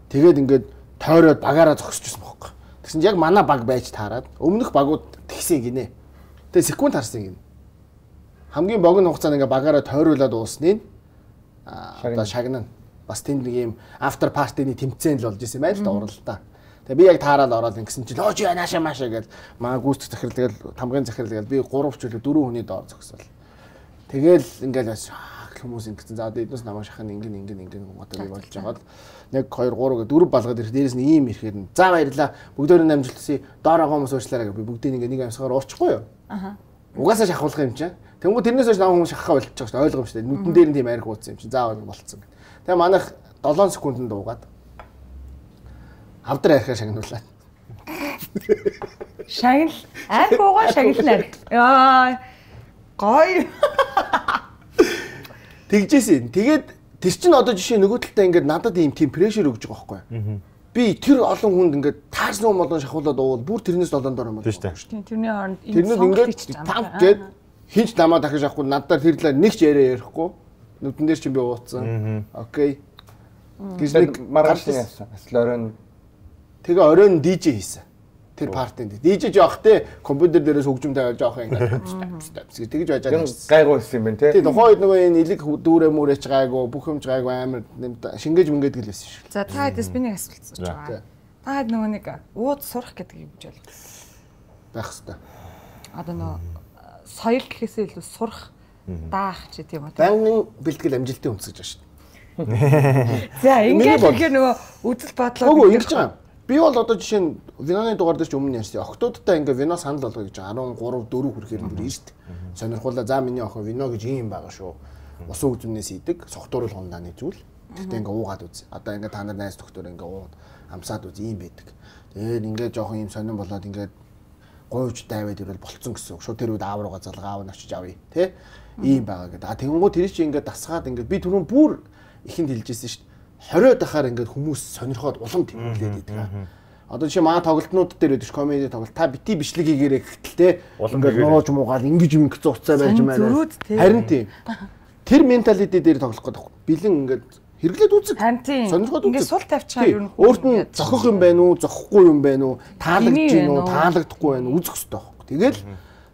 Тэгээд ингээд тойроод багаараа зогсчихсон байхгүй. Тэгсэн чинь яг манай баг байж таарад өмнөх багууд тэгсэн гинэ. Тэгээ секунд харсан гинэ. Хамгийн богино хугацаанд ингээд багаараа тойруулаад уусныг одоо шагнана. Бас тэнд нэг юм after party-ны тэмцээн л болж исэн байл та уралдаа. Тэгээ би яг таараад ороод ингэсэн чинь лож яанаашаа маашаа гэж маа гүйцэх захирал тэгэл тамгын захирал тэгэл би 3 ч үлээ 4 хүний доор зогсвол. Тэгэл ингээл хүмүүс ингэсэн за одоо эднээс намаа шахах ингэн одоо би болж байгаа л 1 2 3 гэ 4 балгаад ирэх дээрээс нь ийм ирэхээр нь за баярлаа бүгдөө намжилтсыг доор байгаа хүмүүс уучлаарай гэж би бүгдийг ингээ нэг амьсгаар уучихгүй юу. Аха. Угаасаа шахуулах юм чинь. Тэнгүү тэрнээс хойш намаа хүмүүс шахахаа болчихж байгаа шүү ойлгом шүү дээ. Нүдэн дээр нь тийм арх ууцсан юм чинь заавал болцсон. Тэгээ манайх 7 секундэд дуугаад авдар архаа шагнуулаад. Шагнал арх уугаа шагналаа. Яа гоё. Тэгжээсэн. Тэгээд тэр чинь одоо жишээ нөгөө талдаа ингээд надад ийм тийм прешэр өгж байгаа байхгүй. Би тэр олон хүнд ингээд таарсан юм болон шахуулаад уувал бүр тэрнээс долоон дор юм байна шүү дээ. Тэрний хооронд тэрнүүд ингээд танк гээд хинч намаа дахиж авахгүй надад тэр талаар нэг ч ярихгүй. Нүдэн дээр чинь би ууцсан. Окей. Гэж маргаашны яасан. Оройн тэгээ оройн DJ хийсэн. Тэр партинд. DJ жоох те компьютер дээрээс хөгжим тавиад жоох ингээд тэгж байж байгаа. Гайгүй байсан юм байна те. Тэгээ тухайд нөгөө энэ илэг дүүрээ мүрээч гайгүй бүх юм гайгүй амар шингээж мэнгээд гэл байсан шүү. За та хэдээс би нэг асуулт асууж байгаа. Та хэд нөгөө нэг ууд сурах гэдэг юм жишээ байх хэвээр. Одоо нөгөө соёл гэхээсээ илүү сурах даах ч тийм үү. Банкны бэлтгэл амжилтын өмс гэж байна шүү. За ингээд тэгэхээр нөгөө үзэл бодлоо үгүй ингэж байгаа. Би бол одоо жишээ нь виноны дугаар дээр ч өмнө ярьсан. Октоодтай ингээ вино санал болгоё гэж 13 4 хүрэхээр бүр ирст. Сонирхуулаа за миний охин вино гэж юм байгаа шүү. Усан үзмнээс идэг, согтууруул хундааны зүйл. Тэгтээ ингээ уугаад үз. Одоо ингээ та нар найз доктор ингээ уугаад амсаад үз юм байдаг. Тэгээд ингээ жоохон юм сонирн болоод ингээ гойвч дайваад ирвэл болцсон гэсэн. Шууд тэр үед аав руугаа залгаа аав нь очиж авъя. Тэ? Ийм байгаа гэдэг. А тэгэнгүүт тэр чинь ингээ дасгаад ингээ би түрүүн бүр ихэнд хэлжсэн шүү дээ. 20 дахаар ингээд хүмүүс сонирхоод улам тэмдэглээд байдаг. Одоо жишээ маа тоглолтнууд дээр байдаг комеди тоглолт та бити бичлэг хийгээрэй гэхтэл те ингээд нууж муугаал ингэж юм их зуцаа байж маа. Харин тийм. Тэр менталити дээр тоглох гэдэг. Бэлэн ингээд хэрэглээд үзэг. Сонирхоод үзэг. Ингээд сул тавьчихаа юу нөх. Өөрт нь зохих юм байна уу, зохихгүй юм байна уу, таалагдж гин үү, таалагдахгүй байна уу үзэх хэрэгтэй байхгүй. Тэгэл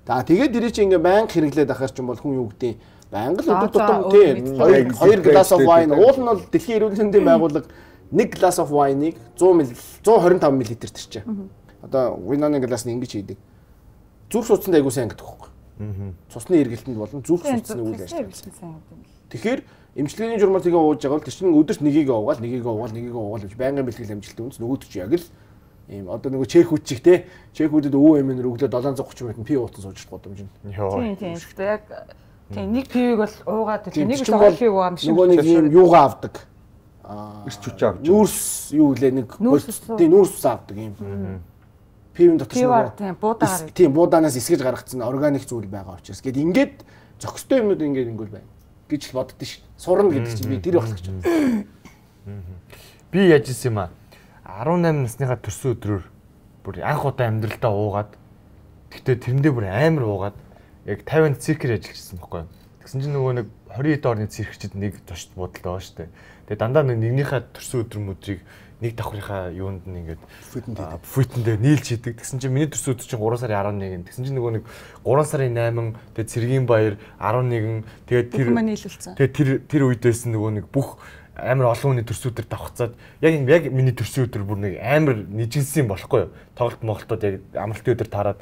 тэгээд дэрий чи ингээд банк хэрэглээд ахаар ч юм бол хүн юу гэдэг Бангл өдөр тутам тийм 2 glass of wine уул нь бол дэлхийн эрүүл мэндийн байгууллага 1 glass of wine-ыг 125 мл төрчээ. Одоо виноны glass нь ингэж хийдэг. Зүрх судаснд айгуу сайн гэдэг байхгүй. Цусны эргэлтэнд болон зүрх судасны үйл ажиллагаа. Тэгэхээр эмчилгээний журмаар тэгээ ууж байгаа бол тэр чинь өдөрт нэгийг уугаал гэж байнгын бэлтгэл амжилттай үнс нөгөөд чи яг л ийм одоо нөгөө чекүүд чих те чекүүдэд өвөө эмээр өглөө 730 минут пи уутан сууж гудамж нь. Тийм яг тийм нэг пивийг бол уугаад тийм нэг л пив уугаам шиг нөгөө нэг юм юугаа авдаг. Ирч хүч авч. Нүүрс юу лээ нэг тийм нүүрс авдаг юм. Пивэн дотор тийм буудагаар. Тийм буудаанаас эсгэж гаргацсан органик зүйл байгаа учраас гээд ингээд зохистой юмнууд ингээд ингүүл байна гэж л боддоо шүү. Сурна гэдэг чинь би тэр болох гэж байна. Би яаж исэн юм аа 18 насныхаа төрсөн өдрөөр бүр анх удаа амьдралдаа уугаад тэгтээ тэрэндээ бүр амар уугаад яг 50-нд циркээр ажиллажсэн байхгүй. Тэгсэн чинь нөгөө нэг 20 орны циркчид нэг зочд буудалтай байгаа шүү дээ. Тэгээ дандаа нэгнийхээ төрсөн өдөр мөдрийг нэг давхрынхаа юунд нь ингээд фүтэндээ нийлж хийдэг. Тэгсэн чинь миний төрсөн өдөр чинь 3 сарын 11. Тэгсэн чинь нөгөө нэг 3 сарын 8 тэгээ Цэргийн баяр 11 тэгээ тэр үедээс нөгөө нэг бүх амар олон хүний төрсөн өдөр давхцаад яг миний төрсөн өдөр бүр нэг амар нийжинсэн болохгүй юу. Тоглолт моголтод яг амралтын өдөр таарад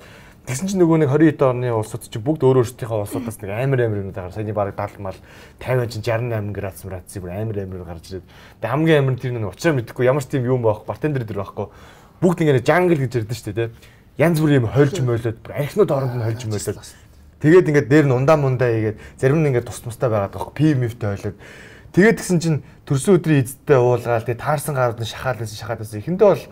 тэгсэн чинь нөгөө нэг 20 орны улсууд чинь бүгд өөр өөрсдийнхөө улсуудаас нэг амар юм даа саяны бараг 70 мал 50 чинь 68 градус бүр амар гарч ирээд тэгээ хамгийн амар тэр нэг учраа мэдэхгүй ямар ч тийм юм байхгүй бартендер дэр байхгүй бүгд ингэ жангл гэж ярьдэн шүү дээ тэ янз бүрийн юм хольж мойлоод архинууд оронд нь хольж мойлоод тэгээд ингэ дээр нь ундаа хийгээд зарим нь ингэ тус тустай байгаад байхгүй пимивтэй хойлоод тэгээд тэгсэн чинь төрсөн өдрийн эзэдтэй уулгаал тэгээ таарсан гарууд нь шахаад байсан эхэндээ бол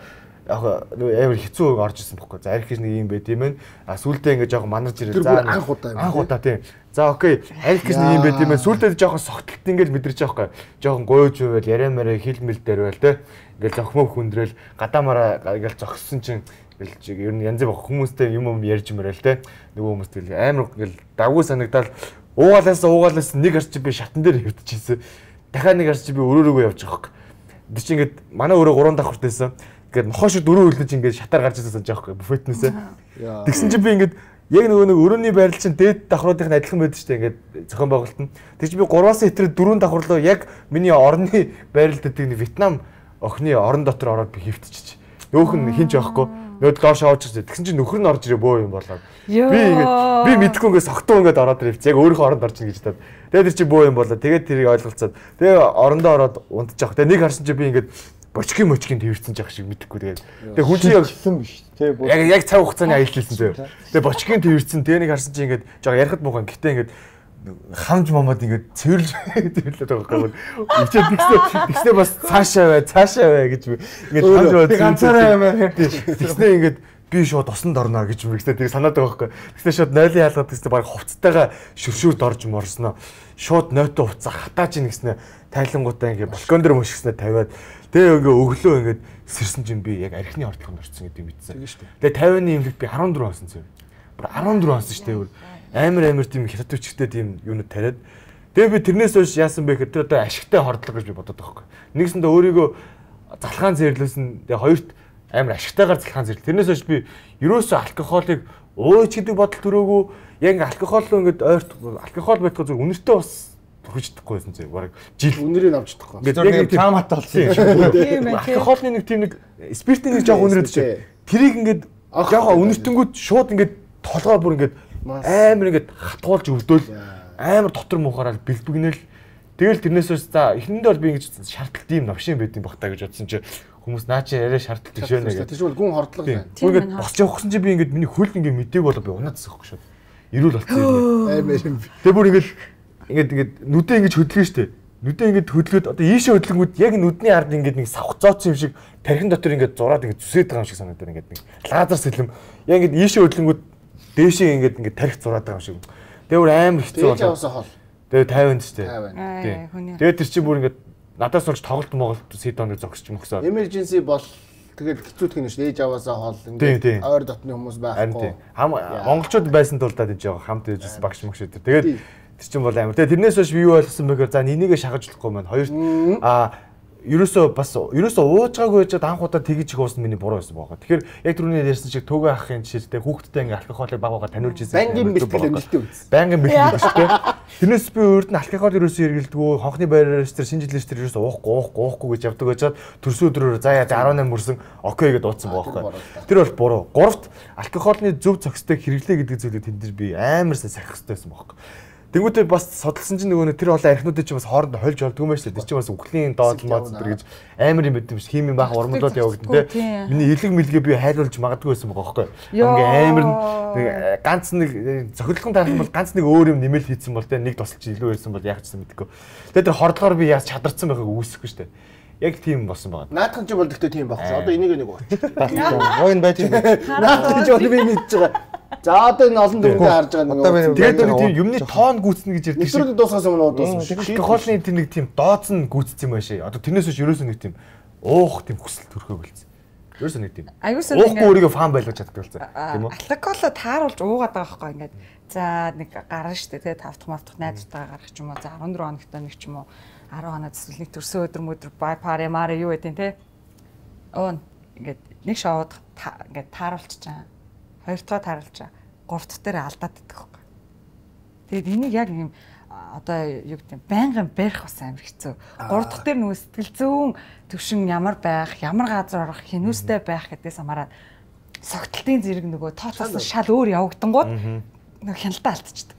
яг амар хэцүү орж ирсэн байхгүй. За арх гэж нэг юм байт юм байна. А сүултээ ингээ жоохон манарж ирээ. За анх удаа тийм. За окей. Арх гэж нэг юм байт юм байна. Сүултээ жоохон согтолт ингээл мэдэрч байгаа байхгүй. Жоохон гойж байвал яриа мараа хилмэл дээр байл те. Ингээл зохимоо хүндрэл гадаамаараа ингээл зогссон чинь Гэлж ер нь янз бүр хүмүүстэй юм ярьж мөрөл те. Нөгөө хүмүүс тэгэл амар ингээл дагуу санагдал уугаалаас нэг арч би шатан дээр хөвтчихсэн. Дахиад нэг арч би өрөөрөөгөө явж байгаа хөөх. Тэг чи ингээд манай өөрөө 3 давхуртайсан. Ингээд нохоо шиг дөрөв хөлөж ингээд шатаар гарч ирсэн санаж байгаа хөөх. Буфетнээсээ. Тэгсэн чи би ингээд яг нөгөө нэг өрөөний байрал чинь дээд давхруудын адилхан байдаг шүү дээ. Ингээд зохион байгуулалт нь. Тэг чи би 3-аас хэтэр 4 давхарлоо яг миний орны байрал дээр нэг Вьетнам охины орон дотор ороод би хөвтчих. Нөөх нь хинч байхгүй. Нөөд доош авч ирсэн. Тэгсэн чинь нөхөр нь орж ирээ бөө юм болоод. Би мэдхгүй ингээд согтуу ингээд ороод ирв. Яг өөрийнхөө оронд орж ийн гэж таад. Тэгээд тэр чи бөө юм болоо. Тэгээд тэрийг ойлголцоод. Тэгээ орондоо ороод унтчих. Тэгээ нэг харсан чи би ингээд бочкийн твэрсэн жах шиг мэдхгүй тэгээд. Тэгээ хүн чи хэлсэн биш тий. Яг цаг хугацааны аялал хэлсэн зөө. Тэгээ бочкийн твэрсэн. Тэгээ нэг харсан чи ингээд жоо ярихад муухан. Гэтэ ингээд хамж момод ингээд цэвэрлж цэвэрлээд байгаа юм. Ичээд тэгснээ бас цаашаа бай гэж би ингээд хамж момод ганцаараа юмаа. Тэгснээ ингээд би шууд усанд орно гэж би тэгснээ санаад байгаа байхгүй. Тэгснээ шууд нойлын яалгаад тэгснээ баг хувцтайгаа шүршүүрд орж морсноо. Шууд нойтоо хувцаа хатааж ийн гэснээ тайлангуудаа ингээд балкон дээр мөшгснээ тавиад тэгээ ингээд өглөө ингээд сэрсэн чинь би яг архины ордлогонд орсон гэдэг мэдсэн. Тэгээ 50-ны имлэг би 14 онсон зөө. Бүр 14 онсон шүү дээ. Амар тийм хятад хүчтэй тийм юунууд тариад. Тэгээ би тэрнээс хойш яасан бэ гэхээр тэр одоо ашигтай хордлого гэж би бодоод байгаа байхгүй. Нэгсэндээ өөрийгөө залхаан зэрлүүлсэн. Тэгээ хоёрт амар ашигтайгаар залхаан зэрлэл. Тэрнээс хойш би ерөөсөө алкоголыг ууч гэдэг бодол төрөөгүй. Яг ингээ алкоголоо ингээд ойрт алкогол байтгаа зөв үнэртэй бас хүрчихдэггүй байсан зэ. Бараг жил үнэрийг авч чадахгүй. Ингээд таам хатаа болсон юм. Алкоголны нэг тийм нэг спиртийн нэг жоох үнэрээд чи. Тэрийг ингээд жоохоо үнэртэнгүүд шууд ингээд толгоо бүр ингээд амар ингээд хатгуулж өвдөөл амар дотор муухаараа бэлбэгнэл тэгэл тэрнээс ус за эхнэндээ бол би ингэж шаардлт ийм навшин байдсан бах та гэж бодсон чи хүмүүс наа чи яриа шаардлт тийш байна гэх. Тийш бол гүн хордлого байна. Ингээд босч явахсан чи би ингээд миний хөл ингээд мэдээг болоо би унаадсан хөөх шууд. Ирүүл болцсон юм. Амар юм. Тэгээ бүр ингээд нүдээ ингэж хөдлөн штэ. Нүдээ ингэж хөдлөөд одоо ийшээ хөдлөнгүүд яг нүдний ард ингээд нэг савх зооцсон юм шиг тархин дотор ингээд зураад ингээд зүсээд байгаа юм шиг санагдаад ингээд нэг лазер сэлэм яг ингээд ийшээ хөдлөнгүүд дээшээ ингээд тарих зураад байгаа юм шиг. Тэгээ бүр амар хэцүү болоо. Дээж авсан хол. Тэгээ 50 ч тийм. Тэгээ тэр чи бүр ингээд надаас болж тоглолт моголт сидоныг зогсож мөхсөө. Emergency бол тэгээд хэцүүдх нь шүү. Дээж аваасаа хол ингээд ойр дотны хүмүүс байхгүй. Монголчууд байсан тул даа тийж байгаа хамт ээжсэн багш мөгш өдр. Тэгээд тэр чин бол амар. Тэгээ тэрнээс хойш юу ойлгосон бэхээр за энийгээ шахаж болохгүй маань. Хоёрт ерөөсөө уужгаагүй байж анх удаа тэгж их уусан миний буруу байсан байгаа. Тэгэхээр яг түрүүний ярьсан шиг төгөө ахын жишээтэй хүүхдтэй ингээ алкоголыг баг бага таниулж ирсэн. Бангийн бэлтгэл өнөлтөө үз. Бангийн бэлтгэл шүү дээ. Тэрнээс би өөрт нь алкогол ерөөсөө эргэлдэггүй, хонхны байраач тэр шинжилгээч тэр ерөөсөө уухгүй гэж явдаг байжгаад төрсөн өдрөөр за 18 мөрсөн окей гэдээ дуудсан байгаа байхгүй. Тэр бол буруу. Гуравт алкоголны зөв зохистой хэрэглээ гэдэг зүйлийг тэнд дэр би амар сайн сахих хэрэгтэй байсан байхгүй. Тэнгүүтээ бас судалсан чинь нөгөө тэр олон архинуудыг чинь бас хоорондоо хольж болдгоо юм шүү дээ. Тэр чинь бас үхлийн доод мод тэр гэж амар юм байт юм шиг химийн баах урмлууд явагдсан те. Миний элэг мэлгээ би хайлуулж магадгүй байсан байгаа байхгүй. Ингээ амар ганц нэг зохирлон тарих бол ганц нэг өөр юм нэмэл хийсэн бол те нэг тусалж илүү байсан бол яг ч гэсэн мэдэхгүй. Тэгээ тэр хордлогоор би яаж чадарсан байгааг үүсэхгүй шүү дээ. Яг тийм болсон байгаа. Наадхан ч бол гэхдээ тийм багш. Одоо энийг нэг ууч. Гойн байж байгаа. Наадхан ч бол би мэдж байгаа. За одоо энэ олон дүрмээр харж байгаа нэг. Тэгээд тийм юмны тоон гүйцэнэ гэж ярьдаг шиг. Нэвтрүүлэг дуусгасан юм уу дууссан. Алкоголны тэр нэг тийм дооцсон гүйцсэн юм байшаа. Одоо тэрнээс биш ерөөсөө нэг тийм уух тийм хүсэл төрхөө болцсон. Ерөөсөө нэг тийм. Уухгүй өөрийгөө фан байлгаж чаддаг болсон. Тийм үү? Алкоголо тааруулж уугаад байгаа байхгүй ингээд. За нэг гарна штэ тэгээ 5 дахь малтах найзтайгаа гарах ч юм уу. За 14 хоногтой нэг ч юм уу. 10 хоног эсвэл нэг төрсөн өдөр бай пари мари юу гэдэг те. Оон ингээд нэг шоуд ингээд тааруулчихаа. Хоёр дахь тааруулж байгаа. Гурав дахь дээр алдаад идэх байхгүй. Тэгээд энийг яг юм одоо юу гэдэг байнгын барих бас амар хэцүү. Гурав дахь дээр нөгөө сэтгэл зүүн төвшин ямар байх, ямар газар орох, хинүүстэй байх гэдгээс хамаараад согтолтын зэрэг нөгөө тооцоолсон шал өөр явагдангууд нөгөө хяналтаа алдчихдаг.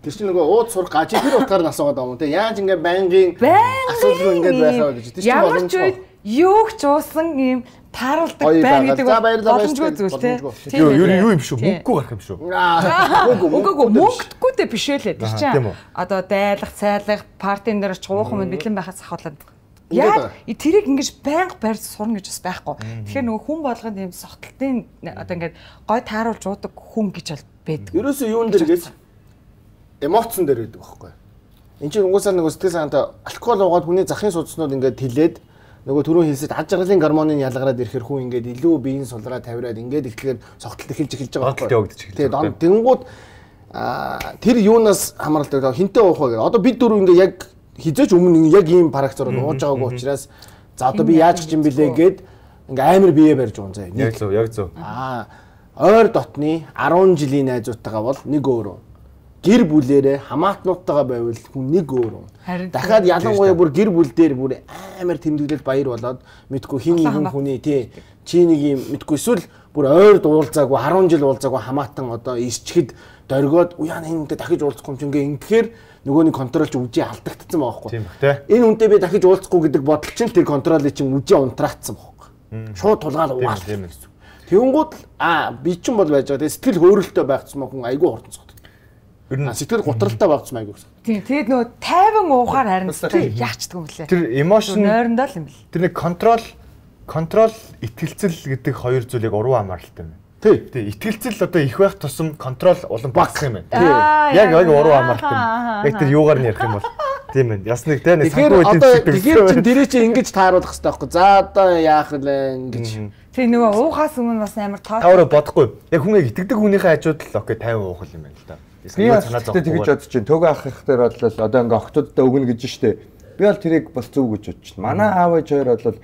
Тэр чинь нөгөө ууд сурах гажи тэр утгаар нь асуугаад байгаа юм те. Яаж ингээ байнгын асуудал ингээд байхаа гэж. Тэр чинь ямар ч үед юу ч уусан юм тааруулдаг байна гэдэг боломжгүй зүйл те. Юу юм шүү? Мөнгөгүй гарах юм шүү. Үгүй мөнгөгүй дээ биш ээ л. Тэр чинь одоо дайлах, цайлах, партийн дээр ч уухан мэд бэлэн байхаас ахуулаад. Яг тэрийг ингэж байнга барьж сурна гэж бас байхгүй. Тэгэхээр нөгөө хүн болгонд юм согтолтын одоо ингээд гой тааруулж уудаг хүн гэж бол байдаг. Ерөөсөө юун дээр гэж эмоцсон дээр байдаг байхгүй. Энд чинь угаасаа нөгөө сэтгэл санаатай алкогол уугаад хүний захын судаснууд ингээд хилээд нөгөө түрүү хэлсэд ад жаргалын гормонын ялгараад ирэхэр хүн ингээд илүү биеийн сулраа тавираад ингээд ихлээр цогтолт эхэлж байгаа байхгүй. Тэгээд тэнгууд тэр юунаас хамааралтай хинтээ уух вэ? Одоо бид дөрөв ингээд яг хизээч өмнө яг ийм парагцаар ууж байгаагүй учраас за одоо би яаж ч юм бэлээ гэд ингээд амар бие барьж байгаа юм заа. Яг зөв. Ойр дотны 10 жилийн найзуудтайгаа бол нэг өөр. Гэр бүлээрээ хамаатнуудтайгаа байвал хүн нэг өөр. Дахиад ялангуяа бүр гэр бүл дээр бүр амар тэмдэглэл баяр болоод мэдгүй хин нэгэн хүний чи нэг юм мэдгүй эсвэл бүр ойр дуулзаагүй 10 жил уулзаагүй хамаатан одоо исчгэд дөргөөд уяа энэ дахиж уулзахгүй юм чинь ингэхээр нөгөөний контролч үжи алдагдсан байгаа байхгүй. Тийм бах тэ. Энэ хүнтэй би дахиж уулзахгүй гэдэг бодол чинь тэр контролыг чинь үжи унтраацсан байхгүй. Шууд тулгаал угаал. Тэнгүүд би чинь бол байж байгаа. Сэтгэл хөөрөлтөй байхсан хүн айгүй хурдан цогт. Сэтгэл гутралтай байхсан айгүй. Тийм. Тэгээд нөгөө тайван уухаар харин яачдаг юм лээ. Тэр эмошн нойрондоо л юм бэл. Тэр нэг контрол итгэлцэл гэдэг хоёр зүйлийг уруу хамааралтай юм. Тий. Итгэлцэл одоо их байх тусам контрол улам багасах юм байна. Яг уруу хамааралтай юм. Яг тэр юугаар нь ярих юм бол тийм ээ. Яс нэг те нэг санхүү эдэмшдэг. Тэгэхээр чи дэрээ чи ингэж тааруулах хэрэгтэй байхгүй. За одоо яах вэ ингэж. Тэгээ нөгөө уухаас өмнө бас амар тоо. Тавраа бодохгүй. Яг хүн яг итгэдэг хүнийхээ хажууд л окей 50 уух юм байна л да. Би санаа зовхгүй. Тэгэж бодож чинь төгөө ах их дээр бодлоо одоо ингээ охтуудтай өгнө гэж штэ. Би бол тэрийг бас зөв гэж бодож чинь. Манай аав ээж хоёр бол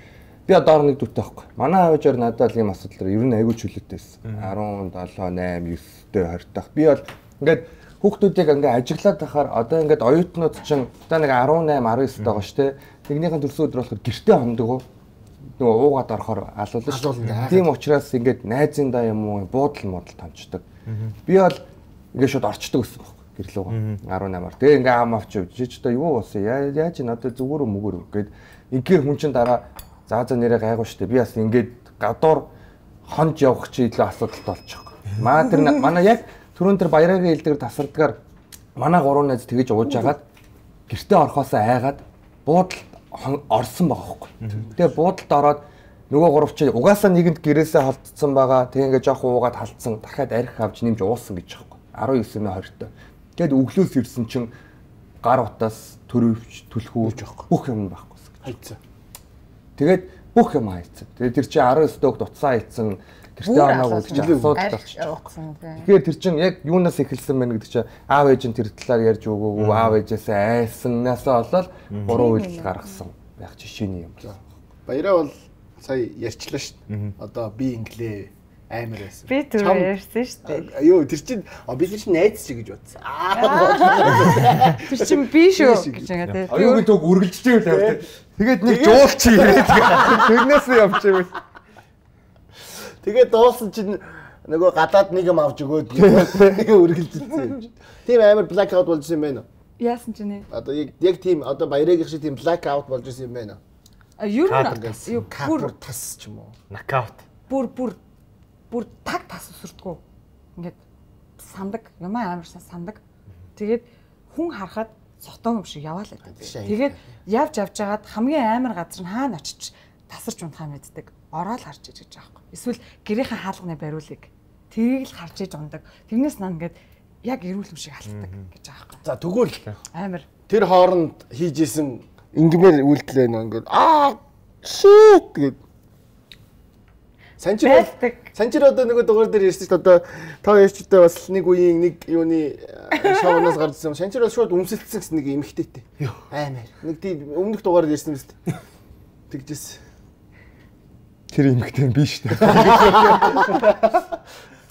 би одоо нэг дүүтэй байхгүй. Манай аав ээж хоёр надад ийм асуудал ер нь айгүй чөлөөтэйсэн. 17, 8, 9-тэй 20 тах. Би бол ингээд хүүхдүүдийг ингээ ажиглаад байхаар одоо ингээд оюутнууд чинь одоо нэг 18, 19 тагаа штэ. Нэгнийхэн төрсөн өдөр болохоор гэртээ хондогоо нөгөө уугаад орохоор алуулна шүү. Тийм учраас ингээд найзын даа юм уу буудал томчдаг. Би бол ингээд шууд орчдөг гэсэн байхгүй гэрлүүгээ 18-аар. Тэгээ ингээд аам авч явж чи ч одоо юу болсон яаж ин одоо зүгээр мөгөр гээд ингээр хүн чин дараа заа нэрээ гайгүй штэ. Би бас ингээд гадуур хонж явах чи илүү асуудалтай болчихгоо. Маа тэр манай яг түрүүн тэр баяраагийн илдгээр тасардгаар манай гурван найз тэгэж ууж агаад гэртээ орхосоо айгаад буудалд орсон байгаа хөөхгүй. Тэгээ буудалд ороод нөгөө гурав чи угаасаа нэгэнд гэрээсээ холдсон байгаа. Тэгээ ингээ жоох уугаад халдсан. Дахиад арх авч нэмж уусан гэж байгаа хөөхгүй. 19-20-т. Тэгээд өглөөс ирсэн чин гар утаас төрөвч түлхүүж бүх юм байхгүй. Хайцсан. Тэгээд бүх юм хайцсан. Тэгээ тэр чи 19 дөөг дуцсан хайцсан. Гэртээ оноогүй гэж асуудал болчихсон. Тэгэхээр тэр чин яг юунаас эхэлсэн бэ гэдэг чи аав ээж нь тэр талаар ярьж өгөөгүй, аав ээжээсээ айсаннаасаа болоод буруу үйлдэл гаргасан байх жишээний юм. Баяраа бол сая ярьчлаа шүү дээ. Одоо би инглээ амар байсан. Би түрүү ярьсан шүү дээ. Йоо тэр чин би тэр чин найз чи гэж бодсон. Тэр чин би шүү гэж ингээд. Аюугийн төг үргэлжлэж байв. Тэгээд нэг жуулчи ирээд тэрнээс явж байв. Тэгээд дуусан чинь нөгөө гадаад нэг юм авч өгөөд нэг үргэлжилсэн юм. Тийм амар blackout болж ирсэн юм байна уу? Яасан ч нэ. Одоо яг тийм одоо баяраагийн шиг тийм blackout болж ирсэн юм байна уу? Юу бүр тас ч юм уу? Knockout. Бүр таг тас усрдгүү. Ингээд сандаг, юм амар сандаг. Тэгээд хүн харахад сотон юм шиг яваал байдаг. Тэгээд явж аваад хамгийн амар газар нь хаана очиж тасарч унтхаа мэддэг. Ороод харж иж гэж аахгүй. Эсвэл гэрийнхээ хаалганы бариулыг тэрийг л харж иж ундаг. Тэрнээс наа ингээд яг эрүүл юм шиг халтдаг гэж аахгүй. За тэгвэл амар тэр хооронд хийжсэн ингэмээр үйлдэлээ ингээд shit гэд Санчир одоо нөгөө дугаар дээр ярьсан шүү дээ. Одоо та ярьчтай бас нэг үеийн нэг юуны шоунаас гарсан. Санчир бол шууд өмсөлдсөн гэсэн нэг эмхтэйтэй. Аймаар. Нэг тийм өмнөх дугаар ярьсан юм шүү дээ. Тэгжээс. Тэр эмхтэй би шүү дээ.